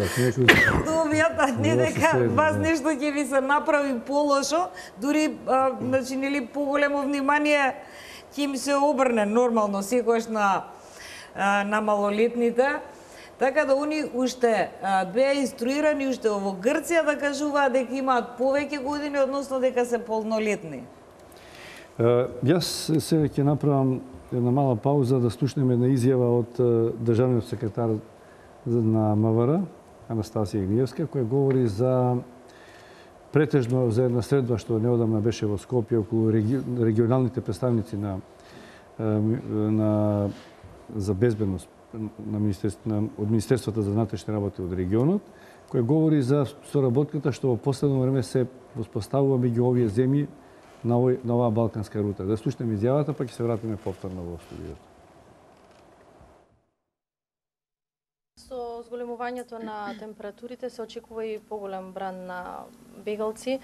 добијат, а не дека вас нешто ќе ви се направи полошо, дури, а, значи, нели, поголемо внимание ќе им се обрне нормално секојаш на, а, на малолетните. Така да они уште а, беа инструирани уште во Грција да кажуваат дека имаат повеќе години, односно дека се полнолетни. Uh, јас сега ќе направам една мала пауза да слушнеме една изјава од uh, државниот секретар на МВР, Анастасија Игниевска, која говори за претежно за една средба што неодамна беше во Скопје околу реги... регионалните представници на, на за безбедност на, министерство, на од Министерството за внатрешни работи од регионот, која говори за соработката што во последно време се воспоставува меѓу овие земји на, овој, на оваа балканска рута. Да слушнеме изјавата, па ќе се вратиме повторно во студиото. Со зголемувањето на температурите се очекува и поголем бран на бегалци.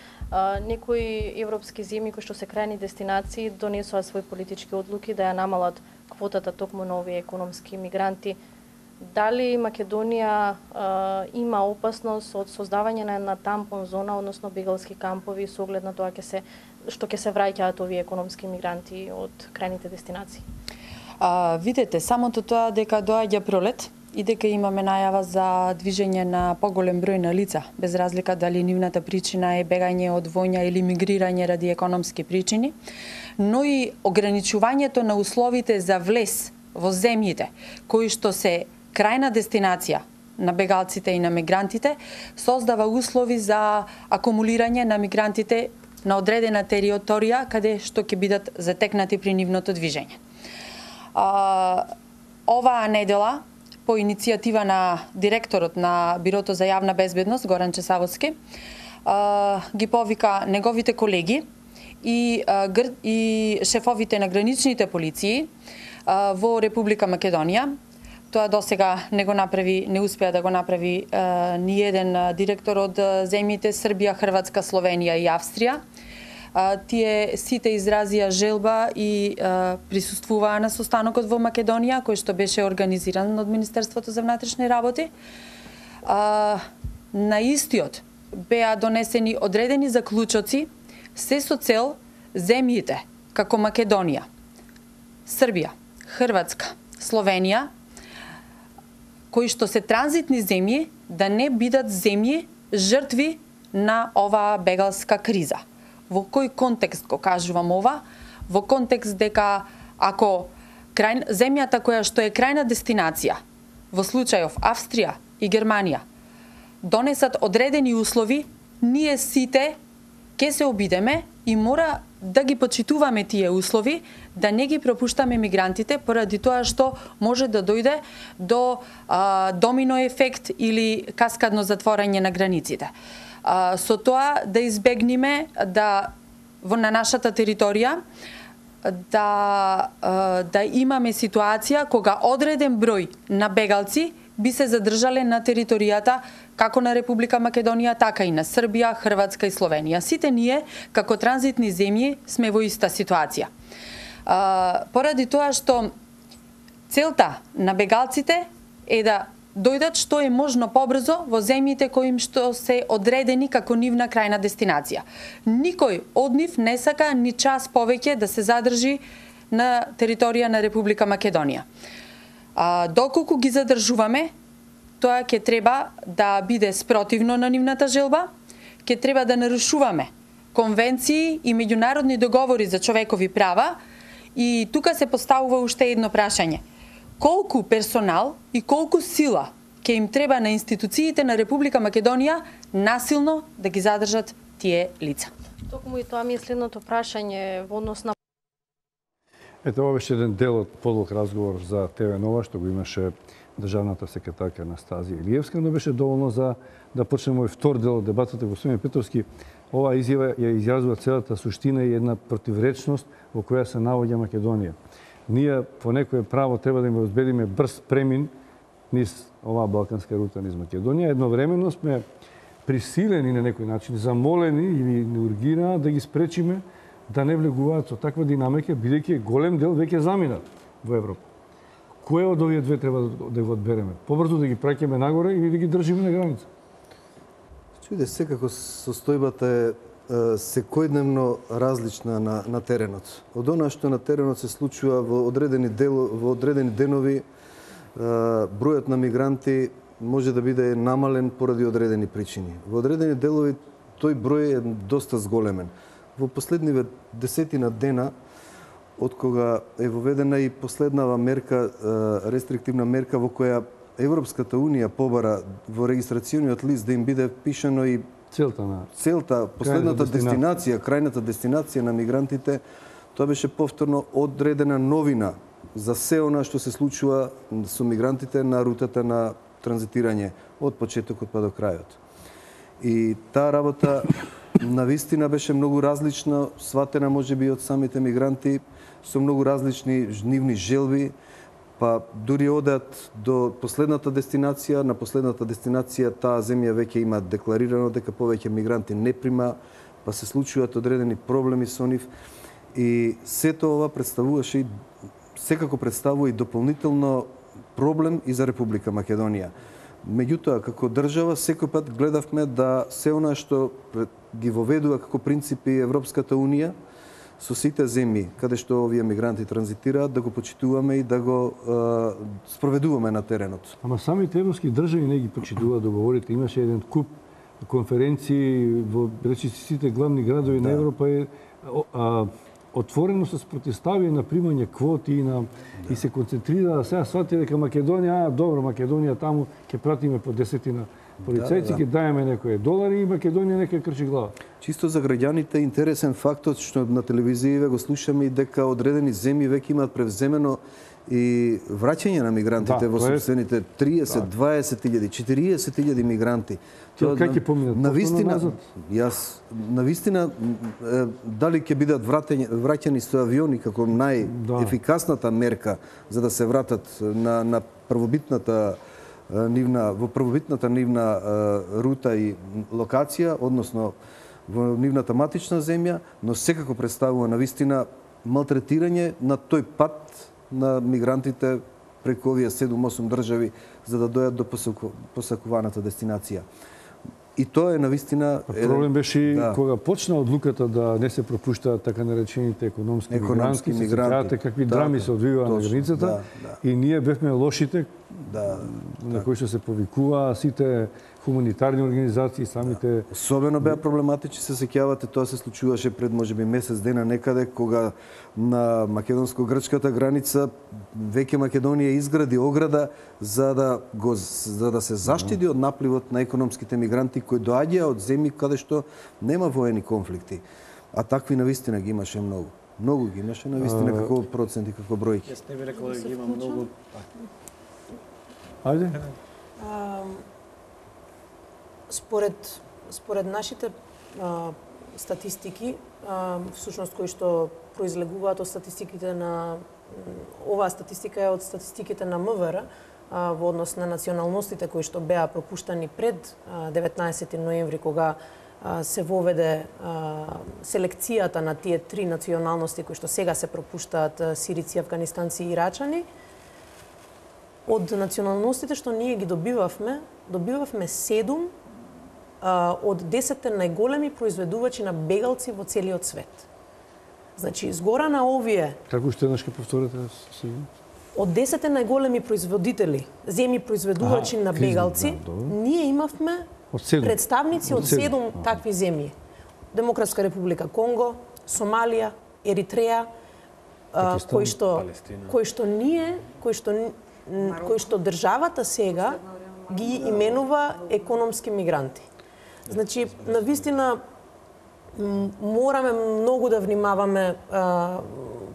Некои европски земји кои што се крајни дестинации донесоа своји политички одлуки да ја намалат квотата токму на овие економски мигранти. Дали Македонија а, има опасност од создавање на една тампон зона, односно бегалски кампови, со оглед на тоа ќе се што ќе се враќаат овие економски мигранти од крајните дестинации? А, видете, самото тоа дека доаѓа пролет и дека имаме најава за движење на поголем број на лица, без разлика дали нивната причина е бегање од војна или мигрирање ради економски причини, но и ограничувањето на условите за влез во земјите кои што се крајна дестинација на бегалците и на мигрантите, создава услови за акумулирање на мигрантите на одредена територија каде што ќе бидат затекнати при нивното движење. А, оваа недела, по иницијатива на директорот на Бирото за јавна безбедност, Горан Чесавовски, а, ги повика неговите колеги и, а, гр... и шефовите на граничните полиции а, во Република Македонија. Тоа досега не го направи, не успеа да го направи а, ни еден директор од земјите Србија, Хрватска, Словенија и Австрија. А, тие сите изразија желба и а, присуствуваа на состанокот во Македонија, кој што беше организиран од Министерството за внатрешни работи. А, на истиот беа донесени одредени заклучоци, се со цел земјите како Македонија, Србија, Хрватска, Словенија, кои што се транзитни земји, да не бидат земји жртви на оваа бегалска криза. Во кој контекст го кажувам ова? Во контекст дека ако крај, земјата која што е крајна дестинација, во случајов Австрија и Германија, донесат одредени услови, ние сите ќе се обидеме и мора да ги почитуваме тие услови, да не ги пропуштаме мигрантите, поради тоа што може да дојде до а, домино ефект или каскадно затворање на границите. А, со тоа да избегнеме да во на нашата територија да а, да имаме ситуација кога одреден број на бегалци би се задржале на територијата како на Република Македонија, така и на Србија, Хрватска и Словенија. Сите ние, како транзитни земји, сме во иста ситуација. А, поради тоа што целта на бегалците е да дојдат што е можно побрзо во земјите кои им што се одредени како нивна крајна дестинација. Никој од нив не сака ни час повеќе да се задржи на територија на Република Македонија. А, доколку ги задржуваме, тоа ќе треба да биде спротивно на нивната желба, ќе треба да нарушуваме конвенции и меѓународни договори за човекови права и тука се поставува уште едно прашање. Колку персонал и колку сила ќе им треба на институциите на Република Македонија насилно да ги задржат тие лица? Токму и тоа ми е следното прашање во однос на... Ето, ова беше еден дел од подолг разговор за ТВ Нова, што го имаше државната секретарка Анастазија Илиевска, но беше доволно за да почнеме овој втор дел од дебатата. Господин Петровски, оваа изјава ја изјазнува целата суштина и една противречност во која се наоѓа Македонија. Ние по некое право треба да им обезбедиме брз премин низ оваа балканска рута низ Македонија. Едновремено сме присилени на некој начин, замолени или не ургирана да ги спречиме да не влегуваат со таква динамика, бидејќи голем дел веќе заминат во Европа. Кој од овие две треба да го одбереме? Побрзо да ги праќаме нагоре или да ги држиме на граница? Чуде, секако состојбата е секојдневно различна на, на теренот. Од она што на теренот се случува во одредени, дел, во одредени денови, бројот на мигранти може да биде намален поради одредени причини. Во одредени делови тој број е доста зголемен. Во последниве десетина дена, од кога е воведена и последнава мерка, рестриктивна мерка во која Европската Унија побара во регистрациониот лист да им биде пишано и целта на целта, последната дестинација, крајната дестинација на мигрантите, тоа беше повторно одредена новина за се она што се случува со мигрантите на рутата на транзитирање од почетокот па до крајот. И таа работа навистина беше многу различна, сватена можеби од самите мигранти, со многу различни нивни желби, па дури одат до последната дестинација, на последната дестинација таа земја веќе има декларирано дека повеќе мигранти не прима, па се случуваат одредени проблеми со нив и сето ова представуваше и секако представува и дополнително проблем и за Република Македонија. Меѓутоа, како држава, секој пат гледавме да се она што ги воведува како принципи Европската Унија со сите земји каде што овие мигранти транзитираат, да го почитуваме и да го е, спроведуваме на теренот. Ама самите европски држави не ги почитуваат договорите. Имаше еден куп конференции во речиси сите главни градови да. на Европа е а, отворено се спротивстави на примање квоти и на да. и се концентрира сега свати дека Македонија, а добро Македонија таму ќе пратиме по десетина полицајци, ќе да, да. даеме некои долари и Македонија нека крчи глава. Чисто за граѓаните интересен фактот што на телевизија го слушаме и дека одредени земји веќе имаат превземено и враќање на мигрантите да, во собствените триесет, дваесет илјади, четириесет илјади мигранти. Тоа како ќе поминат? Навистина, јас навистина дали ќе бидат враќани, враќани со авиони како најефикасната мерка за да се вратат на на првобитната нивна во првобитната нивна рута и локација, односно во нивната матична земја, но секако представува навистина малтретирање на тој пат на мигрантите преку овие седум-осум држави за да дојат до посакуваната дестинација. И тоа е навистина... Проблем беше да. кога почна одлуката да не се пропуштаат така наречените економски, економски мигранти, мигранти. Се какви да, драми да, се одвиваа на границата да, да. и ние бевме лошите да, на да. кои што се повикуваа сите хуманитарни организации, самите... Да. Особено беа проблематични, се сеќавате, тоа се случуваше пред можеби месец дена некаде, кога на македонско-грчката граница веќе Македонија изгради ограда за да го за да се заштити од напливот на економските мигранти кои доаѓаат од земји каде што нема воени конфликти. А такви навистина ги имаше многу. Многу ги имаше навистина како проценти, како бројки. Јас не би рекол дека ги има многу. Ајде. Според, според нашите а, статистики, а, всушност кои што произлегуваат од статистиките на оваа статистика е од статистиките на МВР а, во однос на националностите кои што беа пропуштани пред а, деветнаесети ноември кога се воведе селекцијата на тие три националности кои што сега се пропуштаат, сирици, афганистанци и ирачани. Од националностите што ние ги добивавме, добивавме седум од десетте најголеми произведувачи на бегалци во целиот свет. Значи, згора на овие... Како што еднаш ке повторите? Од десетте најголеми производители, земји произведувачи на бегалци, да, ние имавме представници од седум такви земји. Демократска република Конго, Сомалија, Еритреја, кои што кои што ние, кои што кои што државата сега ги именува економски мигранти. Значи, навистина мораме многу да внимаваме а,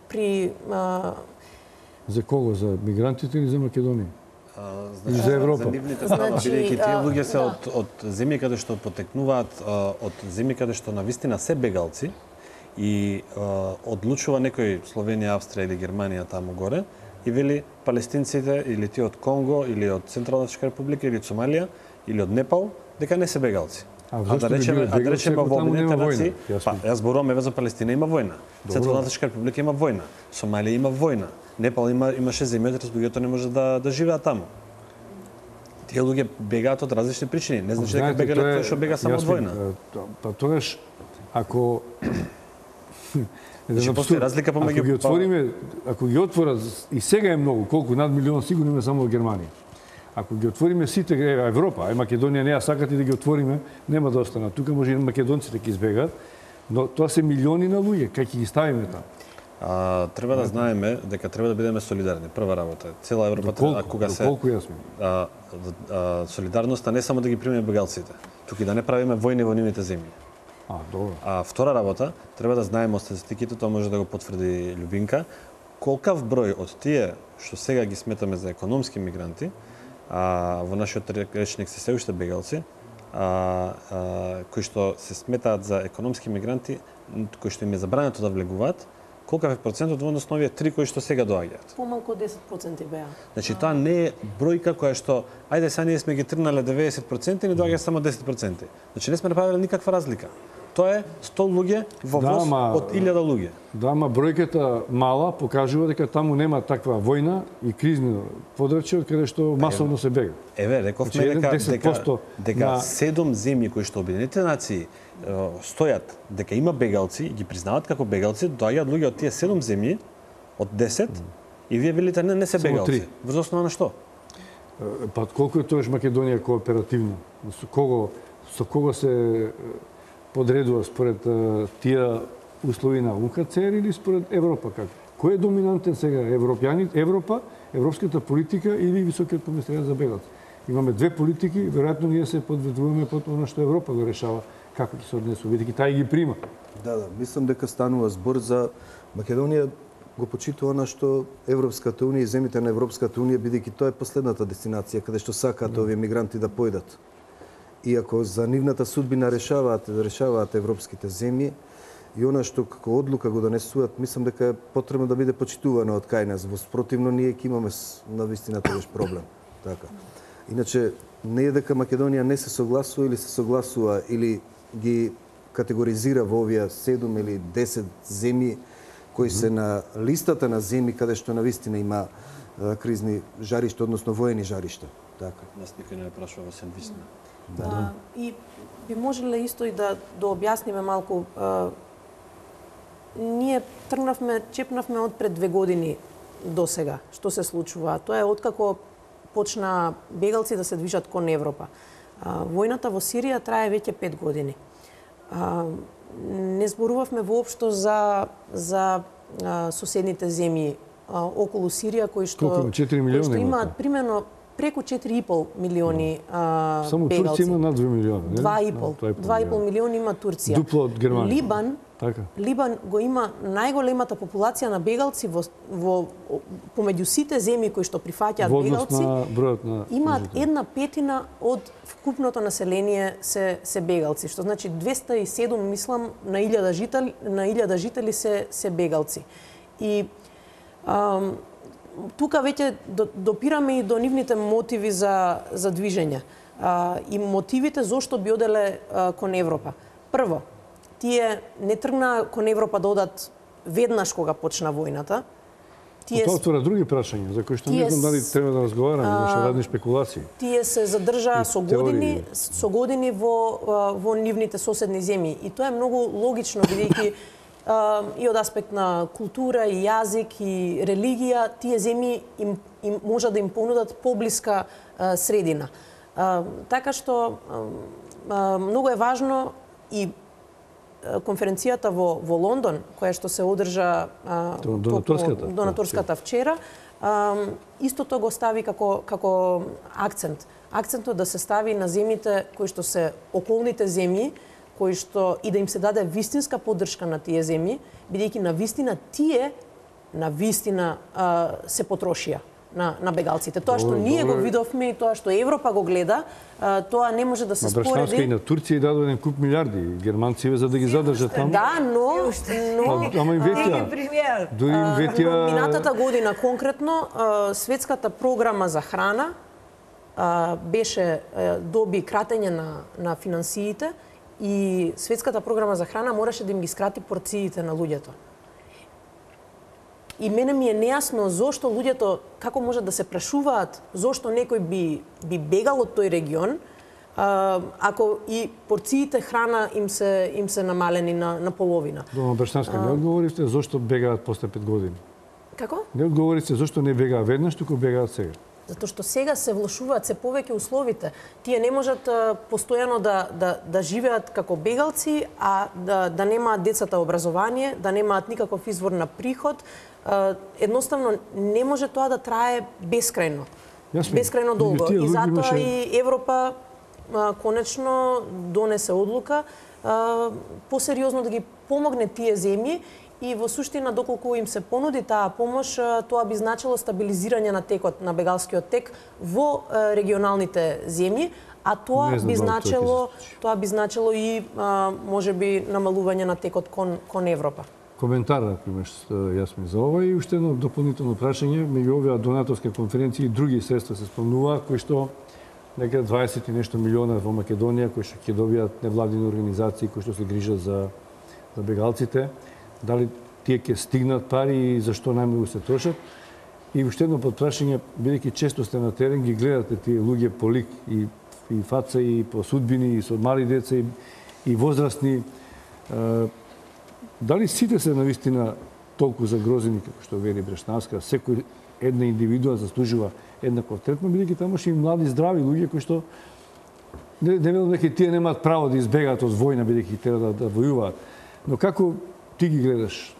при а... За кого? За мигрантите или за Македонија? А, значи, за Европа. За нивните става, значи, бидејќи тие луѓе се да. од, од земји каде што потекнуваат, од земји каде што навистина се бегалци и а, одлучува некој Словенија, Австрија или Германија таму горе и вели палестинците или тие од Конго или од Централна република или од Сомалија или од Непал дека не се бегалци. А, а да речеме, а да речеме во Обединетите нации, па јас зборувам еве за Палестина има војна. Централна република има војна. Сомалија има војна. Непал има имаше земји од луѓето не може да да живеат таму. Тие луѓе бегаат од различни причини. Не значи дека бегале тоа што бега само од војна. Па тогаш ако Значи постои разлика помеѓу ако ги отвориме, ако ги отворат и сега е многу, колку над милион сигурно има само во Германија. Ако ги отвориме сите Европа, а Македонија не ја сакат и да ги отвориме, нема да останат. Тука може и македонците ќе избегаат, но тоа се милиони на луѓе, кај ќе ги ставиме таму. А, треба да знаеме дека треба да бидеме солидарни. Прва работа. Цела Европа треба кога се колку јас а, а, солидарноста не само да ги примеме бегалците, туку и да не правиме војни во нивните земји. А, добро. А втора работа, треба да знаеме од статистиките, тоа може да го потврди Љубинка, колкав број од тие што сега ги сметаме за економски мигранти, а во нашиот речник се се уште бегалци, а, а, кои што се сметаат за економски мигранти, кои што им е забрането да влегуваат, колкав е процентот во однос на овие три кои што сега доаѓаат? Помалку од десет проценти беа. Значи тоа не е бројка која што ајде сега ние сме ги тргнале деветдесет проценти и ни доаѓа само десет проценти. Значи не сме направиле никаква разлика. Тоа е сто луѓе во воз да, од илјада луѓе. Да, ма бројката мала покажува дека таму нема таква војна и кризни подрачје од каде што масовно се бега. Еве, рековме дека дека дека седум земји кои што Обединетите нации стојат дека има бегалци и ги признаваат како бегалци, доаѓаат луѓе од тие седум земји од десет mm. и вие велите не не се бегалци. Врз основа на што? Па колку е тоаш Македонија кооперативна? Со кого со кого се подредува според тие услови на У Н Х Ц Р или според Европа како? Кој е доминантен сега? Европјани, Европа, европската политика или високиот комисаријат за бегалци? Имаме две политики, веројатно ние се подведуваме под она што Европа го решава како ќе се однесува, бидејќи тај ги прима. Да, да, мислам дека станува збор за Македонија го почитува на што Европската унија и земјите на Европската унија, бидејќи тоа е последната дестинација каде што сакаат mm. овие мигранти да појдат. И ако за нивната судбина решаваат, решаваат европските земји, и она што како одлука го донесуваат, мислам дека е потребно да биде почитувано од кај нас. Во спротивно ние ќе имаме на вистина тој проблем. Така. Иначе не е дека Македонија не се согласува или се согласува или ги категоризира во овие седум или десет земји кои се на листата на земји каде што на вистина има а, кризни жаришта, односно воени жаришта. Така. Нас никој не прашува се вистина. Да. А, и би можеле исто и да да објасниме малку. А, ние тргнавме, чепнавме од пред две години до сега. Што се случува? Тоа е откако почна бегалци да се движат кон Европа. А, војната во Сирија трае веќе пет години. А, не зборувавме воопшто за за а, соседните земји а, околу Сирија кои што Колку, четири милиона кои што имаат примерно преку четири и пол милиони а, само бегалци. Турција има над две милиона, не? два и пол. два и пол милиони има Турција. Дупло од Германија. Либан, така. Либан го има најголемата популација на бегалци во, во помеѓу сите земји кои што прифаќаат бегалци. На бројот на имаат една петина од вкупното население се се бегалци, што значи двесте и седум мислам на илјада жители на илјада жители се се бегалци. И ам, тука веќе допираме и до нивните мотиви за за движење. А, и мотивите зошто би оделе а, кон Европа. Прво, тие не тргна кон Европа да одат веднаш кога почна војната. Тие тоа отвора други прашања за кои што не знам дали треба да разговараме, имаше разни спекулации. Тие се задржаа со години, со години во во нивните соседни земји и тоа е многу логично бидејќи и од аспект на култура и јазик и религија тие земји им, им може да им понудат поблиска а, средина. А, така што а, многу е важно и конференцијата во во Лондон, која што се одржа а, донаторската, донаторската вчера, а, истото го стави како како акцент. Акцентот да се стави на земјите кои што се околните земји, кои што и да им се даде вистинска поддршка на тие земји, бидејќи на вистина тие на вистина а, се потрошија на на бегалците. Тоа што ние го видовме и тоа што Европа го гледа, а, тоа не може да се спореди. Брашнанска и на Турција дадоа еден куп милиарди германци за да ги задржат таму. Да, но но ама им ветија. Дури им ветија. Минатата година конкретно а, светската програма за храна а, беше а, доби кратење на на финансиите и светската програма за храна мораше да им ги скрати порциите на луѓето. И мене ми е нејасно зошто луѓето, како може да се прашуваат, зошто некој би, би бегал од тој регион, а, ако и порциите храна им се, им се намалени на, на половина. Дома Брашнанска, не одговоривте зошто бегаат после пет години? Како? Не одговоривте зошто не бегаат веднаш, туку бегаат сега. Затоа што сега се влошуваат се повеќе условите. Тие не можат а, постојано да, да, да живеат како бегалци, а да, да немаат децата образование, да немаат никаков извор на приход. А, едноставно не може тоа да трае бескрајно. Јасно. Бескрајно долго. И затоа имаше... и Европа а, конечно донесе одлука а, посериозно да ги помогне тие земји. И во суштина, доколку им се понуди таа помош, тоа би значило стабилизирање на текот, на бегалскиот тек во регионалните земји, а тоа би значило, тоа би значило и можеби намалување на текот кон кон Европа. Коментар, ако имаш, јас ми за ова и уште едно дополнително прашање, меѓу овие донаторски конференции и други средства се спомнува, кои што некаде дваесет и нешто милиона во Македонија, кои што ќе добијат невладини организации кои што се грижат за за бегалците. Дали тие ќе стигнат пари и зашто најмногу се трошат? И уште едно подпрашање, бидејќи често сте на терен, ги гледате тие луѓе по лик и, и фаца и по судбини, и со мали деца и, и возрастни. Е, дали сите се навистина толку загрозени, како што вели Брашнанска, секој една индивидуа заслужува еднаков третман, бидејќи тамаше и млади, здрави луѓе кои што не, не велам дека тие немаат право да избегаат од војна, бидејќи треба да, да војуваат. Но како ти ги гледаш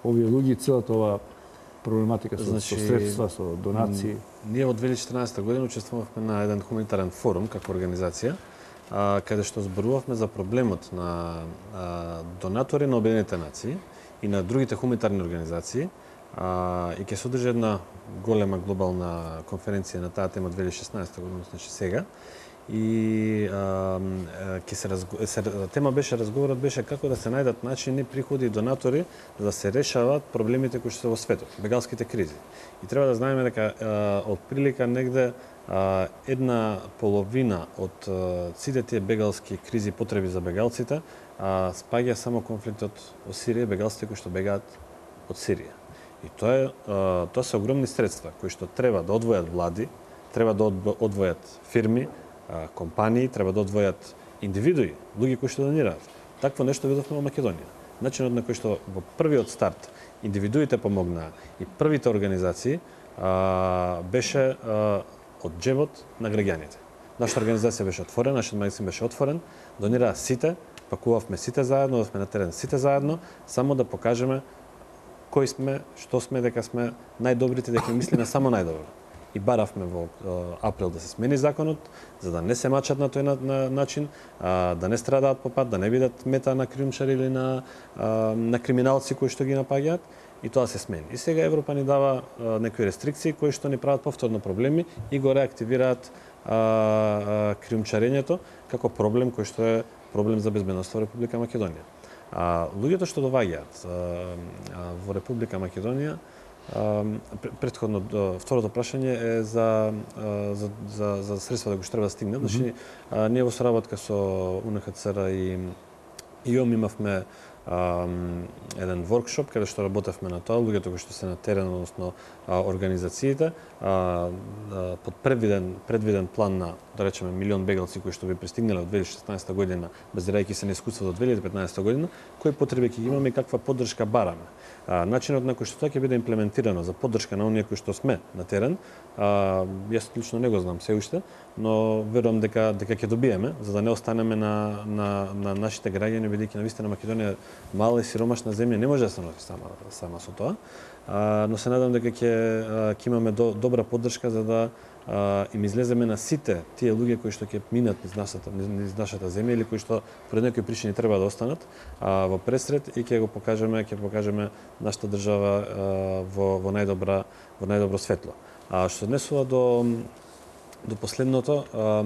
овие луѓе, целата ова проблематика со, значи, со средства, со донации? Ние во две илјади и четрнаесета година учествувавме на еден хуманитарен форум како организација, а, каде што зборувавме за проблемот на а, донатори на Обединетите нации и на другите хуманитарни организации, а, и ќе се одржи една голема глобална конференција на таа тема две илјади и шеснаесета година, значи сега. И а, ке се, разго... се тема беше разговорот беше како да се најдат начини, приходи и донатори за да се решаваат проблемите кои што се во светот, бегалските кризи. И треба да знаеме дека од прилика негде а, една половина од а, сите тие бегалски кризи, потреби за бегалците, а, спаѓа само конфликтот во Сирија, бегалците кои што бегаат од Сирија. И тоа е а, тоа се огромни средства кои што треба да одвојат влади, треба да одвојат фирми, компании, треба да одвојат индивидуи, луѓе кои што донираат. Такво нешто видовме во Македонија. Начинот на кој што во првиот старт индивидуите помогнаа и првите организации а, беше а, од џебот на граѓаните. Нашата организација беше отворена, нашиот магазин беше отворен, донираа сите, пакувавме сите заедно, одевме на терен сите заедно, само да покажеме кои сме, што сме, дека сме најдобрите, дека мислиме само најдобро. И баравме во април да се смени законот, за да не се мачат на тој на, на начин, а, да не страдаат по пат, да не бидат мета на криумчари или на, а, на криминалци кои што ги напаѓаат, и тоа се смени. И сега Европа ни дава а, некои рестрикции кои што ни прават повторно проблеми и го реактивираат а, а, криумчарењето како проблем кој што е проблем за безбедноста во Република Македонија. А, луѓето што доаѓаат во Република Македонија, претходно второто прашање е за за за, за средства да го што треба да стигне. Значи, ние во соработка со У Н Х Ц Р и И ом имавме а, еден воркшоп каде што работевме на тоа, луѓето кои што се на терен, односно а, организациите, а, а, под предвиден предвиден план на, да речеме, милион бегалци кои што би пристигнале од две илјади и шеснаесета година, базирајќи се на искуство до две илјади и петнаесета година, кои потреби ќе имаме и каква поддршка бараме. А, начинот на кој што тоа ќе биде имплементирано за поддршка на оние кои што сме на терен, а, јас лично не го знам се уште, но верувам дека дека ќе добиеме, за да не останеме на на на нашите граѓани, бидејќи навистина Македонија мала и сиромашна земја, не може да се носи сама сама со тоа. А, но се надам дека ќе ќе имаме до, добра поддршка за да а, им излеземе на сите тие луѓе кои што ќе минат низ нашата низ нашата земја или кои што поради некои причини треба да останат а, во пресред и ќе го покажеме ќе покажеме нашата држава а, во во најдобра во најдобро светло. А што се однесува до до последното, а,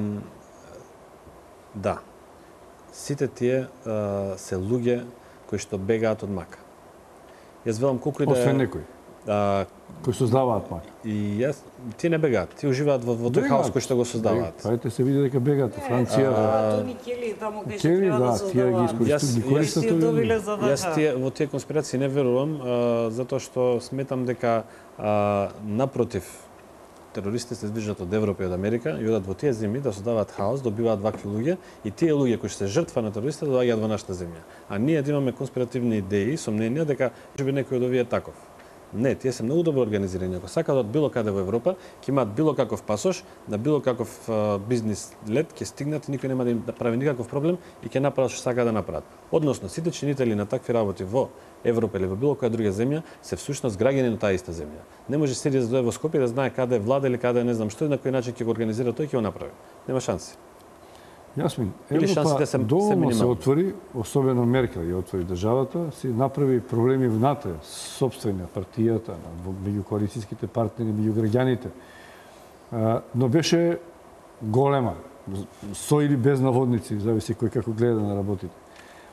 да. Сите тие а, се луѓе кои што бегаат од мака. Јас велам колку и да Освен некои. А, кои создаваат мака. И јас тие не бегаат, тие уживаат во, во тој хаос кој што го создаваат. Пајте се види дека бегаат во Франција. Тони Кели таму кај што Кели, треба да, да тие ги создаваат. искористуваат, ги користат тоа. Јас тие во тие конспирации не верувам, а, затоа што сметам дека а, напротив терористите се движат од Европа и од Америка и одат во тие земји да создаваат хаос, добиваат вакви луѓе и тие луѓе кои што се жртва на терористите доаѓаат во нашата земја. А ние да имаме конспиративни идеи, сомненија дека може би некој од овие е таков. Не, тие се многу добро организирани. Ако сакаат од било каде во Европа, ќе имаат било каков пасош, на било каков а, бизнис лет, ќе стигнат и никој нема да им прави никаков проблем и ќе направат што сакаат да направат. Односно, сите чинители на такви работи во Европа или во било која друга земја се всушност граѓани на таа иста земја. Не може Сирија да дојде во Скопје да знае каде е влада или каде не знам што и на кој начин ќе го организира тој ќе го направи. Нема шанси. Јасмин, Или Европа шансите се- се доволно се минимални. отвори, особено Меркел ја отвори државата, си направи проблеми внатре, собствени на партијата, на- во- меѓу коалицијските партнери, меѓу граѓаните. А, Но беше голема, со или без наводници, зависи кој како гледа на работите.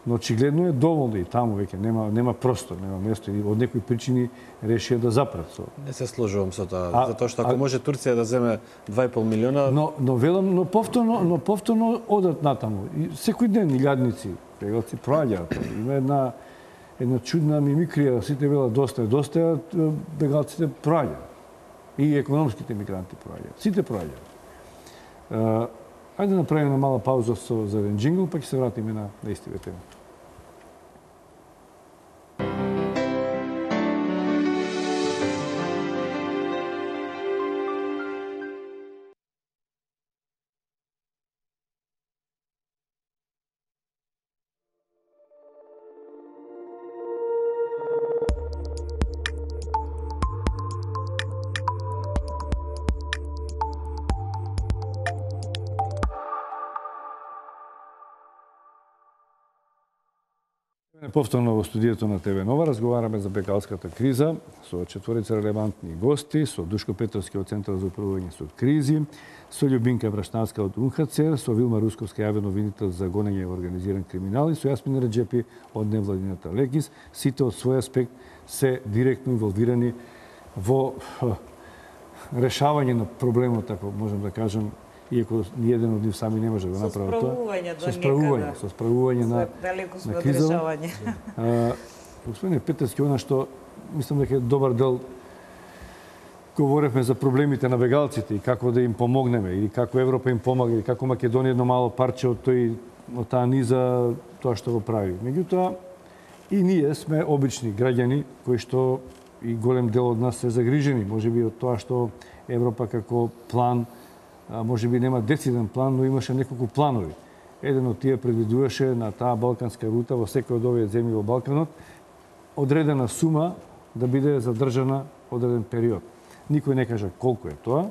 Но очигледно е доволно и таму веќе нема нема простор, нема место и од некои причини решија да запрат со. Не се сложувам со тоа, А- затоа што ако а- може Турција да земе два и пол милиона, Но но велам, но повторно, но повторно одат натаму. И секој ден илјадници бегалци проаѓаат. Има една една чудна мимикрија, сите велат доста е, доста е, бегалците проаѓаат. И економските мигранти проаѓаат. Сите проаѓаат. Uh, ајде да направиме една мала пауза со за еден джингл, па ќе се вратиме на на истиве теми. Повторно во студиото на ТВ Нова разговараме за бегалската криза со четворица релевантни гости, со Душко Петровски од Центар за управување со кризи, со Љубинка Брашнавска од УНХЦР, со Вилма Русковска јавен обвинител за гонење во организиран криминал и со Јасмин Реджепи од невладината Лекис, сите од свој аспект се директно инволвирани во х, решавање на проблемот, ако можам да кажам, иако ниеден од нив сами не може да го направи тоа. Со справување до Со справување, некаде. со справување на Далеко сме на од криза. решавање. А, Господине Петерски, она што мислам дека е добар дел говоревме за проблемите на бегалците и како да им помогнеме или како Европа им помага или како Македонија едно мало парче од тој од таа низа тоа што го прави. Меѓутоа и ние сме обични граѓани кои што и голем дел од нас се загрижени, можеби од тоа што Европа како план а, можеби нема дециден план, но имаше неколку планови. Еден од тие предвидуваше на таа балканска рута во секој од овие земји во Балканот одредена сума да биде задржана одреден период. Никој не кажа колку е тоа,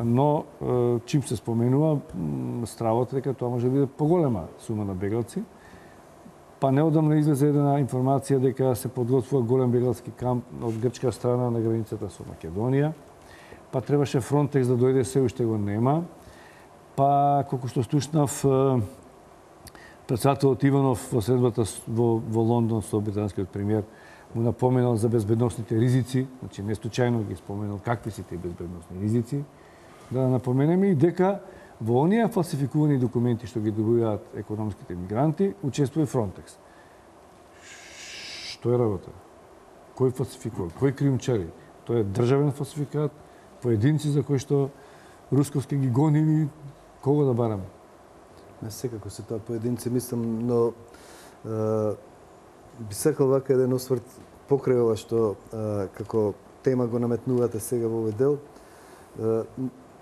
но е, чим се споменува м, стравот дека тоа може да биде поголема сума на бегалци. Па неодамна излезе една информација дека се подготвува голем бегалски камп од грчка страна на границата со Македонија. Па требаше Фронтекс да дојде, се уште го нема. Па, колку што слушнав, председателот Иванов во средбата во, во Лондон со британскиот премиер му напоменал за безбедносните ризици, значи не случајно ги споменал какви се тие безбедносни ризици, да напоменеме и дека Во оние фалсификувани документи што ги добиваат економските мигранти, учествува и Фронтекс. Што е работа? Кој фалсификува? Кој криумчари? Тоа е државен фалсификат, поединци за кои што русковски ги гонили, кого да бараме? Не секако се тоа поединци, мислам, но е, би сакал вака еден осврт покрај ова што е, како тема го наметнувате сега во овој дел. Е,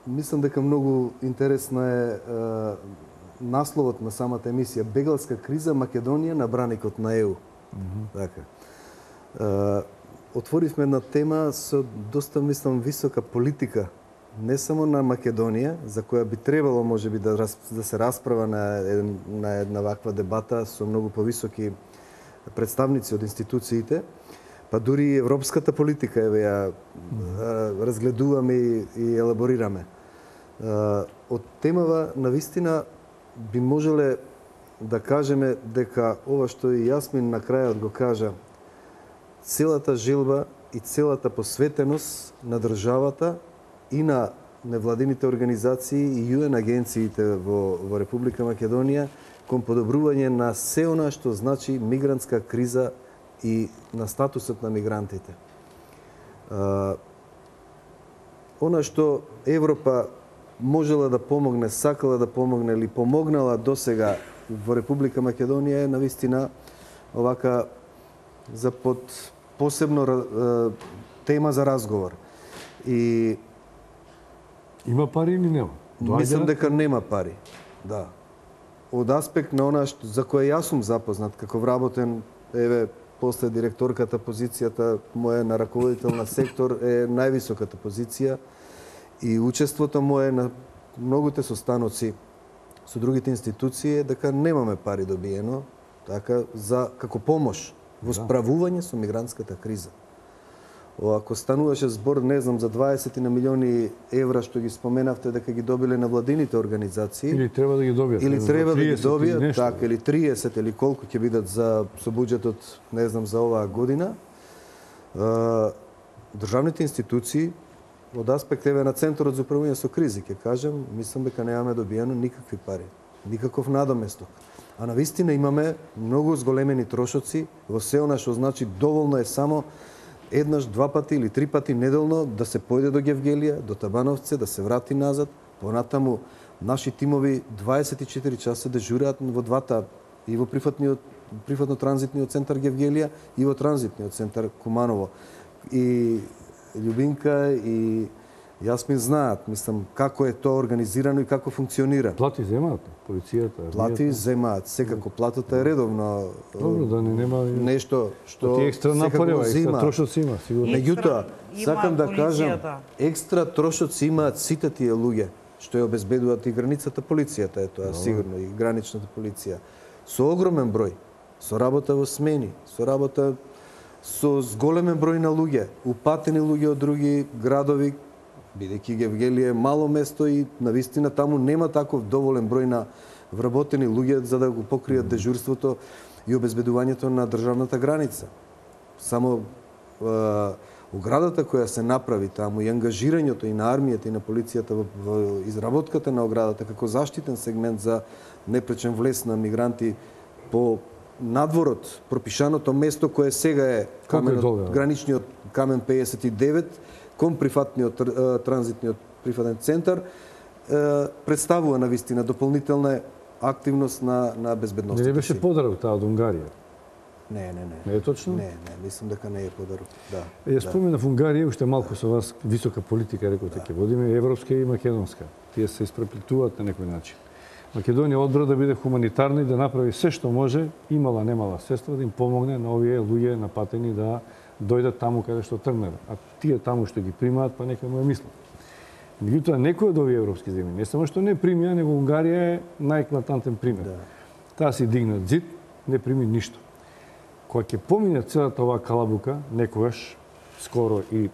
мислам дека многу интересна е, е насловот на самата емисија Бегалска криза, Македонија на браникот на ЕУ. Mm -hmm. Така. Е, отворивме една тема со доста, мислам, висока политика, не само на Македонија, за која би требало можеби да, да се расправа на, еден, на една ваква дебата со многу повисоки представници од институциите, па дури и европската политика еве ја mm. разгледуваме и, и елаборираме. Од темава навистина би можеле да кажеме дека ова што и Јасмин на крајот го кажа, целата желба и целата посветеност на државата и на невладините организации и ю ен агенциите во, во Република Македонија кон подобрување на се она што значи мигрантска криза и на статусот на мигрантите. А, она што Европа можела да помогне, сакала да помогне или помогнала досега во Република Македонија е навистина овака за под посебно е, тема за разговор. И има пари или нема? Доаѓа... Мислам дека нема пари. Да. Од аспект на она што, за која јас сум запознат како вработен, еве после директорката позицијата моја на раководител на сектор е највисоката позиција и учеството мое на многуте состаноци со другите институции е дека немаме пари добиено така за како помош во справување со мигрантската криза. Ако стануваше збор, не знам, за дваесет на милиони евра што ги споменавте дека ги добиле на владините организации, или треба да ги добијат, или треба да ги добијат, така, или триесет или колку ќе бидат за со буџетот, не знам, за оваа година, државните институции од аспект еве на Центарот за управување со кризи, ќе кажем, мислам дека немаме добиено никакви пари, никаков надоместок. А навистина имаме многу зголемени трошоци во се она што значи доволно е само еднаш, два пати или три пати неделно да се појде до Гевгелија, до Табановце, да се врати назад. Понатаму наши тимови дваесет и четири часа дежураат во двата, и во прифатниот прифатно-транзитниот центар Гевгелија и во транзитниот центар Куманово. И Љубинка и Јасмин знаат, мислам, како е тоа организирано и како функционира. Плати земаат, полицијата. Плати земаат, секако платата е редовно. Добро, да не нема нешто што ти екстра напорева, екстра трошоци има, сигурно. Меѓутоа, сакам да кажам, екстра трошоци имаат сите тие луѓе што ја обезбедуваат и границата, полицијата е тоа, сигурно, и граничната полиција. Со огромен број, со работа во смени, со работа со зголемен број на луѓе, упатени луѓе од други градови, бидејќи Гевгелија е мало место и навистина таму нема таков доволен број на вработени луѓе за да го покријат дежурството и обезбедувањето на државната граница. Само е, оградата која се направи таму и ангажирањето и на армијата и на полицијата во, во изработката на оградата како заштитен сегмент за непречен влез на мигранти по надворот, пропишаното место кое сега е каменот, граничниот камен пеесет и девет, кон прифатниот транзитниот прифатен центар, представува навистина дополнителна активност на на безбедноста. Не беше подарок таа од Унгарија? Не, не, не. Не е точно? Не, не, мислам дека не е подарок. Да. Ја споменав Унгарија, уште малку со вас висока политика рекоте ќе водиме, европска и македонска. Тие се испреплетуваат на некој начин. Македонија одбра да биде хуманитарна и да направи се што може, имала немала средства да им помогне на овие луѓе напатени да дојдат таму каде што тргнале. А тие таму што ги примаат, па нека му е мислат. Меѓутоа, некои од овие европски земји, не само што не примија, него Унгарија е најеклатантен пример. Да. Таа си дигна зид, не прими ништо. Кога ќе помине целата оваа калабука, некогаш, скоро и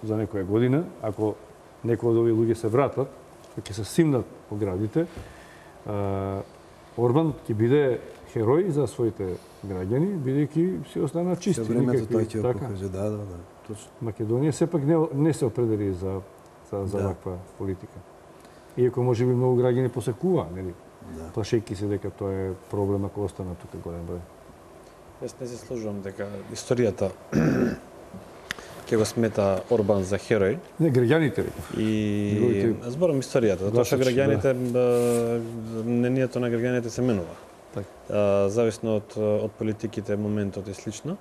за некоја година, ако некои од овие луѓе се вратат, ќе се симнат по градите, Орбан ќе биде херој за своите граѓани, бидејќи си останаа чисти. Се времето тој ќе го покаже, да, да, да, точно. Македонија сепак не, не се определи за, за, за да. ваква политика. Иако може би многу граѓани посекува, нели? Да. Плашејќи се дека тоа е проблем ако остана тука голем број. Јас не се сложувам дека историјата ќе го смета Орбан за херој. Не, граѓаните. И Неговите... зборам историјата, затоа што граѓаните, да. мнението на граѓаните се менува. Так. Зависно од, од политиките, моментот и слично.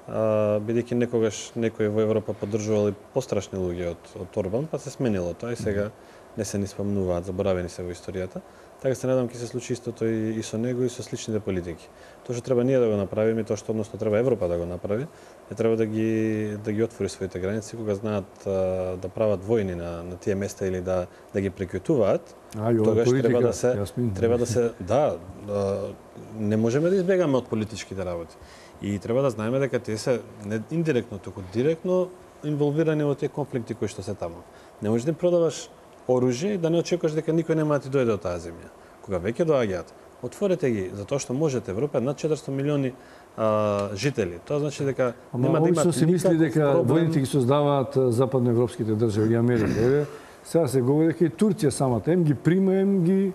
Бидејќи некогаш некој во Европа поддржувал и пострашни луѓе од, од Орбан, па се сменило тоа и сега не се ни спомнуваат, заборавени се во историјата. Така се надам ќе се случи истото и, и со него и со сличните политики. Тоа што треба ние да го направиме, тоа што односно треба Европа да го направи, е треба да ги да ги отвори своите граници кога знаат а, да прават војни на на тие места или да да ги прекјутуваат. Тогаш треба да се јасмин. треба да се да, да не можеме да избегаме од политичките работи. И треба да знаеме дека тие се не индиректно, туку директно инволвирани во тие конфликти кои што се таму. Не можеш да им продаваш оружје и да не очекуваш дека никој нема да ти дојде од таа земја. Кога веќе доаѓаат, отворете ги, затоа што можете. Европа е над четиристотини милиони а, жители. Тоа значи дека Ама, нема да имат се мисли дека проблем... војните ги создаваат западноевропските држави и Америка. Еве, сега се говори дека и Турција самата им ги прима, им ги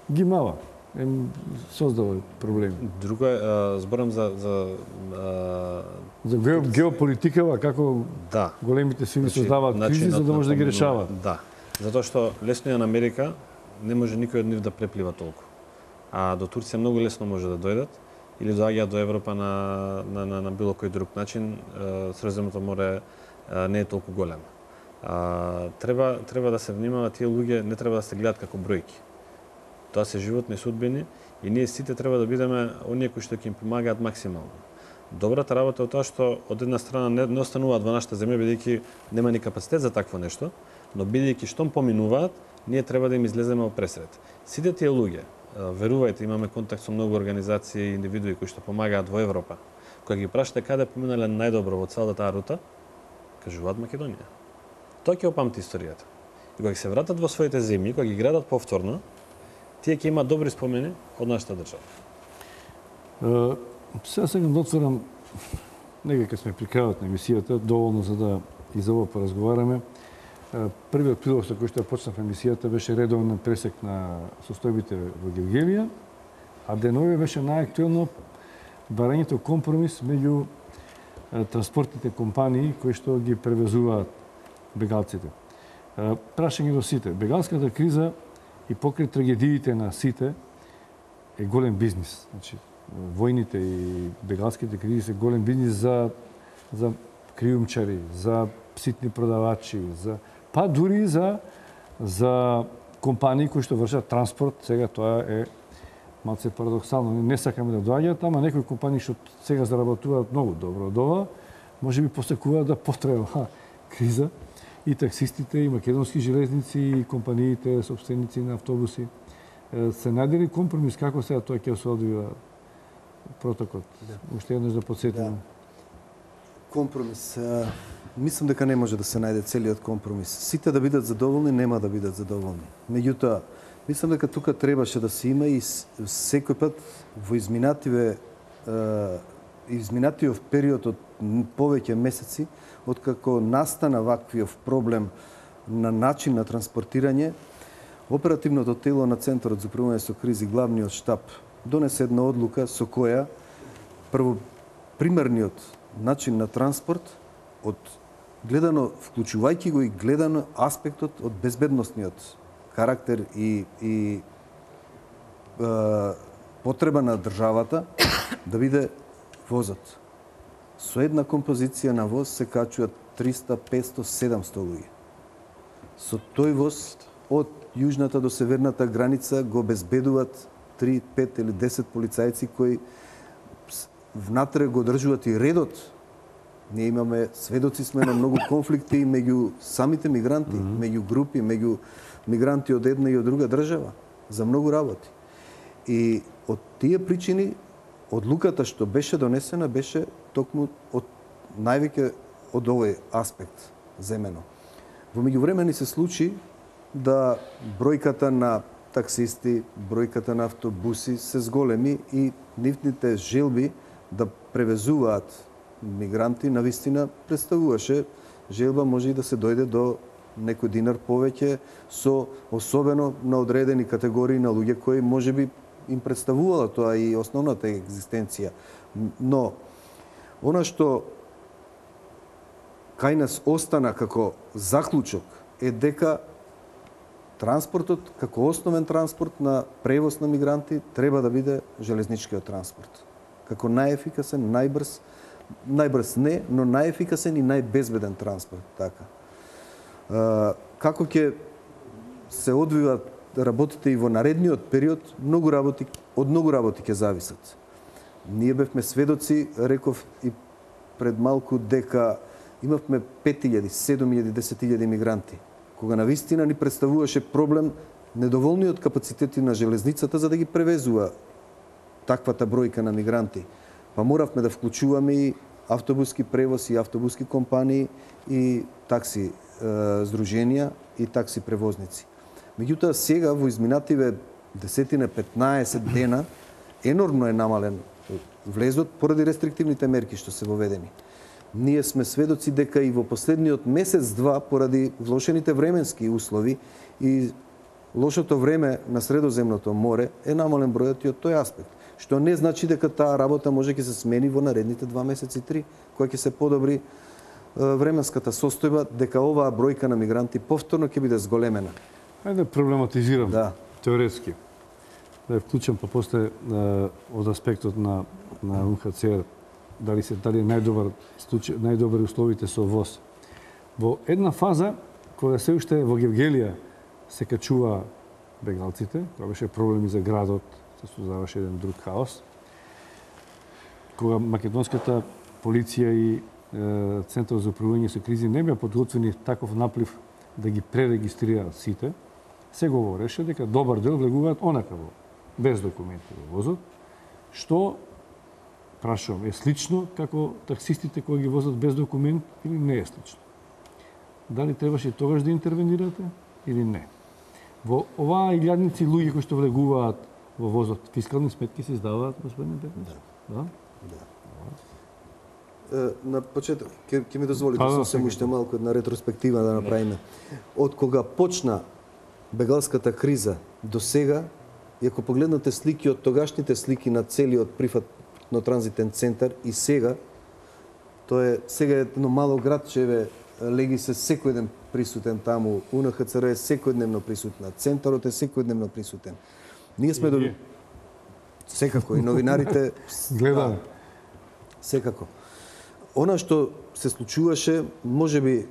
ги мава. Им создава проблеми. Друго е, а, зборам за за а... за геополитикава како да. големите сили значи, создаваат кризи за да може да ги решаваат. Да. Затоа што лесно е на Америка, не може никој од нив да преплива толку. А до Турција многу лесно може да дојдат или доаѓаат до Европа на на на, на било кој друг начин. Средиземното море не е толку големо. А, треба треба да се внимава, тие луѓе не треба да се гледат како бројки. Тоа се животни судбини и ние сите треба да бидеме оние кои што ќе им помагаат максимално. Добрата работа е тоа што од една страна не, не остануваат во нашата земја бидејќи нема ни капацитет за такво нешто, но бидејќи штом поминуваат, ние треба да им излеземе во пресред. Сите тие луѓе, верувајте, имаме контакт со многу организации и индивидуи кои што помагаат во Европа. Кога ги прашате каде поминале најдобро во целата таа рута, кажуваат Македонија. Тоа ќе опамти историјата. И кога се вратат во своите земји, кога ги градат повторно, тие ќе имаат добри спомени од нашата држава. Uh, сега сакам да отворам, некако сме при крајот на емисијата, доволно за да и за ова поразговараме. Uh, првиот прилог со кој што почнав емисијата беше редовен пресек на состојбите во Гевгелија, а денове беше најактуелно барањето компромис меѓу uh, транспортните компании кои што ги превезуваат бегалците. Uh, прашање до сите. Бегалската криза и покрај трагедиите на сите е голем бизнис. Значи, војните и бегалските кризи се голем бизнис за за криумчари, за ситни продавачи, за па дури за за компании кои што вршат транспорт. Сега тоа е малце парадоксално. Не сакаме да доаѓаат, ама некои компании што сега заработуваат многу добро од ова, можеби посекуваат да потрае оваа криза. И таксистите, и македонски железници, и компаниите, собственици на автобуси. Се најдели компромис како сега тоа ќе се одвива протокот? Да. Уште еднаш да подсетиме. Да. Компромис. Мислам дека не може да се најде целиот компромис. Сите да бидат задоволни, нема да бидат задоволни. Меѓутоа, мислам дека тука требаше да се има и секој пат во изминативе изминатиот период од повеќе месеци, откако настана ваквиов проблем на начин на транспортирање, оперативното тело на Центарот за управување со кризи, главниот штаб, донесе една одлука со која прво примерниот начин на транспорт од гледано, вклучувајќи го и гледано аспектот од безбедносниот карактер и, и е, потреба на државата да биде возот. Со една композиција на воз се качуваат триста, петсто, седумсто луѓе. Со тој воз од јужната до северната граница го безбедуваат три, пет или десет полицајци кои внатре го држуваат и редот. Ние имаме, сведоци сме на многу конфликти меѓу самите мигранти, mm -hmm. меѓу групи, меѓу мигранти од една и од друга држава, за многу работи. И од тие причини, одлуката што беше донесена беше токму од највеќе од овој аспект земено. Во меѓувреме ни се случи да бројката на таксисти, бројката на автобуси се зголеми и нивните желби да превезуваат мигранти навистина представуваше желба може и да се дојде до некој динар повеќе, со особено на одредени категории на луѓе кои можеби им представувала тоа и основната екзистенција. Но она што кај нас остана како заклучок е дека транспортот како основен транспорт на превоз на мигранти треба да биде железничкиот транспорт. Како најефикасен, најбрз, најбрз не, но најефикасен и најбезбеден транспорт, така. Како ќе се одвиваат работите и во наредниот период, многу работи, од многу работи ќе зависат. Ние бевме сведоци, реков и пред малку, дека имавме пет илјади, седум илјади, десет илјади мигранти, кога навистина ни представуваше проблем недоволниот капацитети на железницата за да ги превезува таквата бројка на мигранти. Па моравме да вклучуваме и автобуски превоз, и автобуски компании, и такси е, здруженија, и такси превозници. Меѓутоа, сега во изминативе десетина, петнаесет дена, енормно е намален влезот поради рестриктивните мерки што се воведени. Ние сме сведоци дека и во последниот месец-два, поради влошените временски услови и лошото време на Средоземното море, е намален бројот и од тој аспект. Што не значи дека таа работа може ќе се смени во наредните два месеци три, која ќе се подобри временската состојба, дека оваа бројка на мигранти повторно ќе биде зголемена. Ајде да проблематизирам да. теоретски. Да ја вклучам па после од аспектот на на У Н Х Ц Р, дали се дали е најдобар случај, најдобри условите со ВОЗ. Во една фаза кога се уште во Гевгелија се качува бегалците, кога беше проблеми за градот, се создаваше еден друг хаос. Кога македонската полиција и е, Центар за управување со кризи не беа подготвени таков наплив да ги пререгистрираат сите, се говореше дека добар дел влегуваат онака во без документи во возот, што прашувам, е слично како таксистите кои ги возат без документ или не е слично? Дали требаше тогаш да интервенирате или не? Во оваа илјадници луѓе кои што влегуваат во возот, фискални сметки се издаваат, господин Петрович? Да. Да? Да. Е, на почеток, ќе, ќе ми дозволите сосем уште малку една ретроспектива да направиме. Од кога почна бегалската криза до сега, и ако погледнате слики од тогашните слики на целиот прифатно-транзитен центар и сега, тоа е сега е едно мало градче, Леги се секој ден присутен таму, У Н Х Ц Р е секојдневно присутна, центарот е секојдневно присутен. Ние сме до... Секако, и новинарите... Гледам. Да, секако. Она што се случуваше, можеби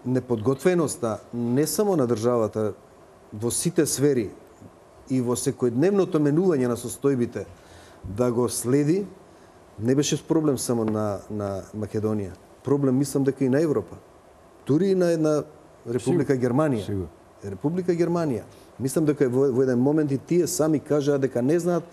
неподготвеноста не само на државата во сите сфери и во секојдневното менување на состојбите да го следи, не беше проблем само на, на Македонија. Проблем мислам дека и на Европа. Дури и на една Република Сигур. Германија. Сигур. Република Германија. Мислам дека во, во еден момент и тие сами кажаа дека не знаат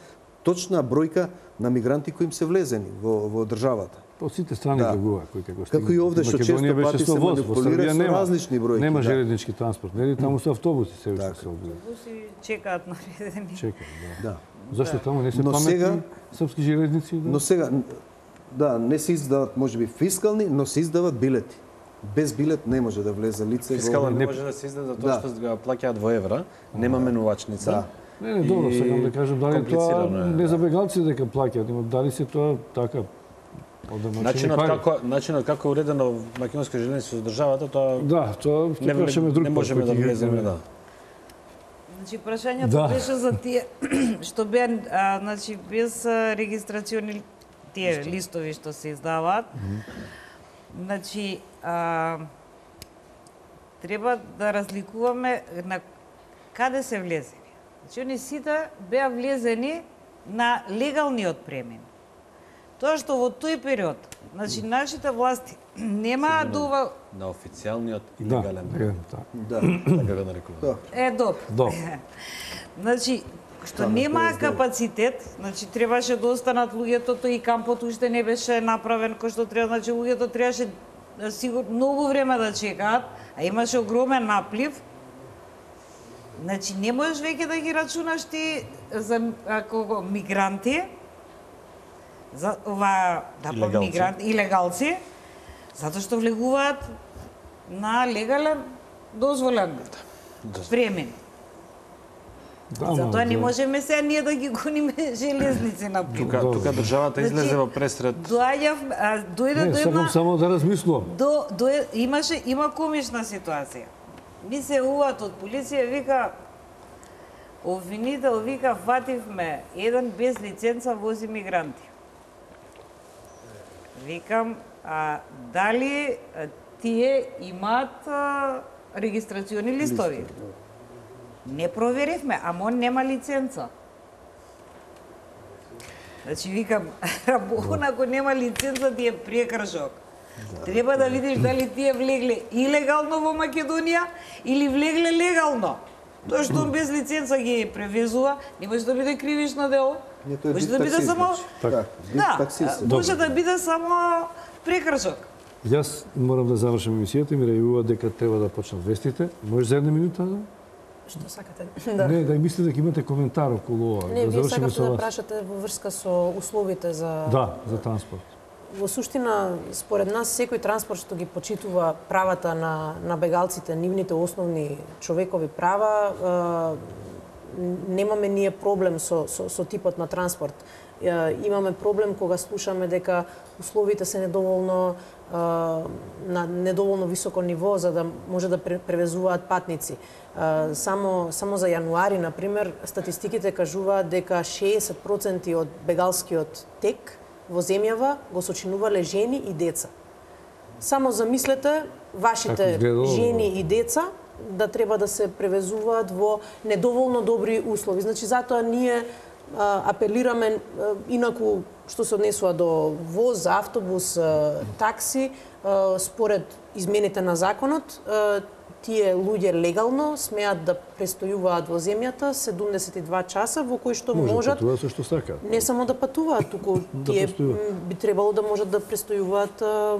точна бројка на мигранти кои им се влезени во, во државата. Од сите страни да. влегува кои како стигнат. Како и овде што често пати се манипулира со различни бројки. Нема да. железнички транспорт, нели таму се автобуси се уште се одвија. Автобуси чекаат наредени. Чекаат, да. Да. Зашто таму не се Но паметни сега, српски железници? Да? Но сега, да, не се издават можеби фискални, но се издават билети. Без билет не може да влезе лице. Фискално во... не може да се издаде за тоа да. што го плаќаат во евра, нема менувачница. Да. Не, не, добро, сакам да кажам дали тоа не за бегалци дека плаќаат, но дали се тоа така Начинот како начинот како е уредено македонска железница со државата, тоа да, тоа не, прашаме друг не можеме да влеземе, да. Значи прашањето да. беше за тие што беа а, значи без регистрациони тие листови што се издаваат. Mm -hmm. Значи а, треба да разликуваме на каде се влезени. Значи они сите беа влезени на легалниот премин. Тоа што во тој период, значи нашите власти немаат дува на официјалниот и да, легален премин. Да, така го нарекуваме. Е, добро. Добро. Значи, што немаа капацитет, значи требаше да останат луѓето, тој и кампот уште не беше направен кој што треба, значи луѓето требаше сигурно многу време да чекаат, а имаше огромен наплив. Значи не можеш веќе да ги рачунаш ти за ако мигранти, за ова да па мигранти, илегалци, затоа што влегуваат на легален, дозволен премен. Да, Затоа не можеме сега ние да ги гониме железници на Тука, тука државата излезе во пресред. Доаѓав, дојде Не, до една... сакам само да размислувам. До, до, имаше, има комична ситуација. Ми се уват од полиција, вика, обвинител, вика, фативме, еден без лиценца вози мигранти. Викам, а, дали а, тие имаат а, регистрациони листови? Не проверивме, ама он нема лиценца. Значи, викам, он ако нема лиценца, ти е прекршок. Треба да видиш дали тие влегле илегално во Македонија или влегле легално. Тоа што он без лиценца ги превезува, не може да биде кривично дело. Не, тој е Може бит да биде таксист, само... значи. Така, бит Да, таксист. може да биде само прекршок. Јас морам да завршам емисијата, ми рејува дека треба да почнат вестите. Може за една минута? Да? Што сакате? Да. Не, да мислите дека имате коментар околу ова. Не, да вие завршиме сакате со да вас. прашате во врска со условите за... Да, за транспорт. Во суштина, според нас, секој транспорт што ги почитува правата на, на бегалците, нивните основни човекови права, е, немаме ние проблем со, со, со типот на транспорт. Е, имаме проблем кога слушаме дека условите се недоволно е, на недоволно високо ниво за да може да превезуваат патници. Е, само, само за јануари, например, статистиките кажуваат дека шеесет проценти од бегалскиот тек во земјава го сочинувале жени и деца. Само замислете вашите жени и деца да треба да се превезуваат во недоволно добри услови. Значи, затоа ние а, апелираме, а, инаку што се однесува до воз, автобус, а, такси, а, според измените на законот, а, тие луѓе легално смеат да престојуваат во земјата седумдесет и два часа во кои што Може можат патуваат со што сакаат. не само да патуваат, туку Да тие престојуваат. м, би требало да можат да престојуваат а,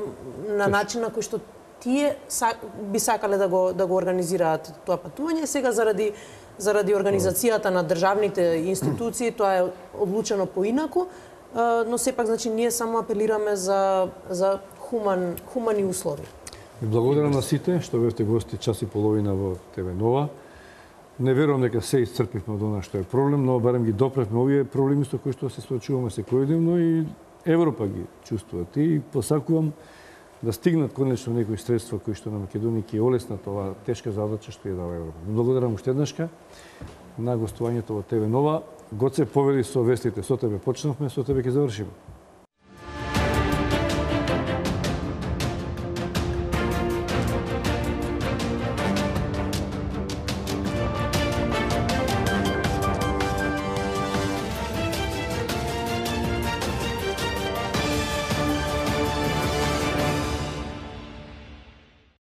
на начин на кој што тие са, би сакале да го да го организираат тоа патување. Сега заради заради организацијата на државните институции тоа е одлучено поинаку, а, но сепак значи ние само апелираме за за хуман хумани услови. И благодарам на сите што бевте гости час и половина во Те Ве Нова. Не верувам дека се исцрпивме од она што е проблем, но барем ги допревме овие проблеми со кои што се соочуваме секојдневно и Европа ги чувствуваат. И посакувам да стигнат конечно некои средства кои што на Македонија ќе олеснат оваа тешка задача што ја дава Европа. Благодарам уште еднашка на гостувањето во Те Ве Нова. Гоце, повели со вестите. Со тебе почнавме, со тебе ќе завршиме.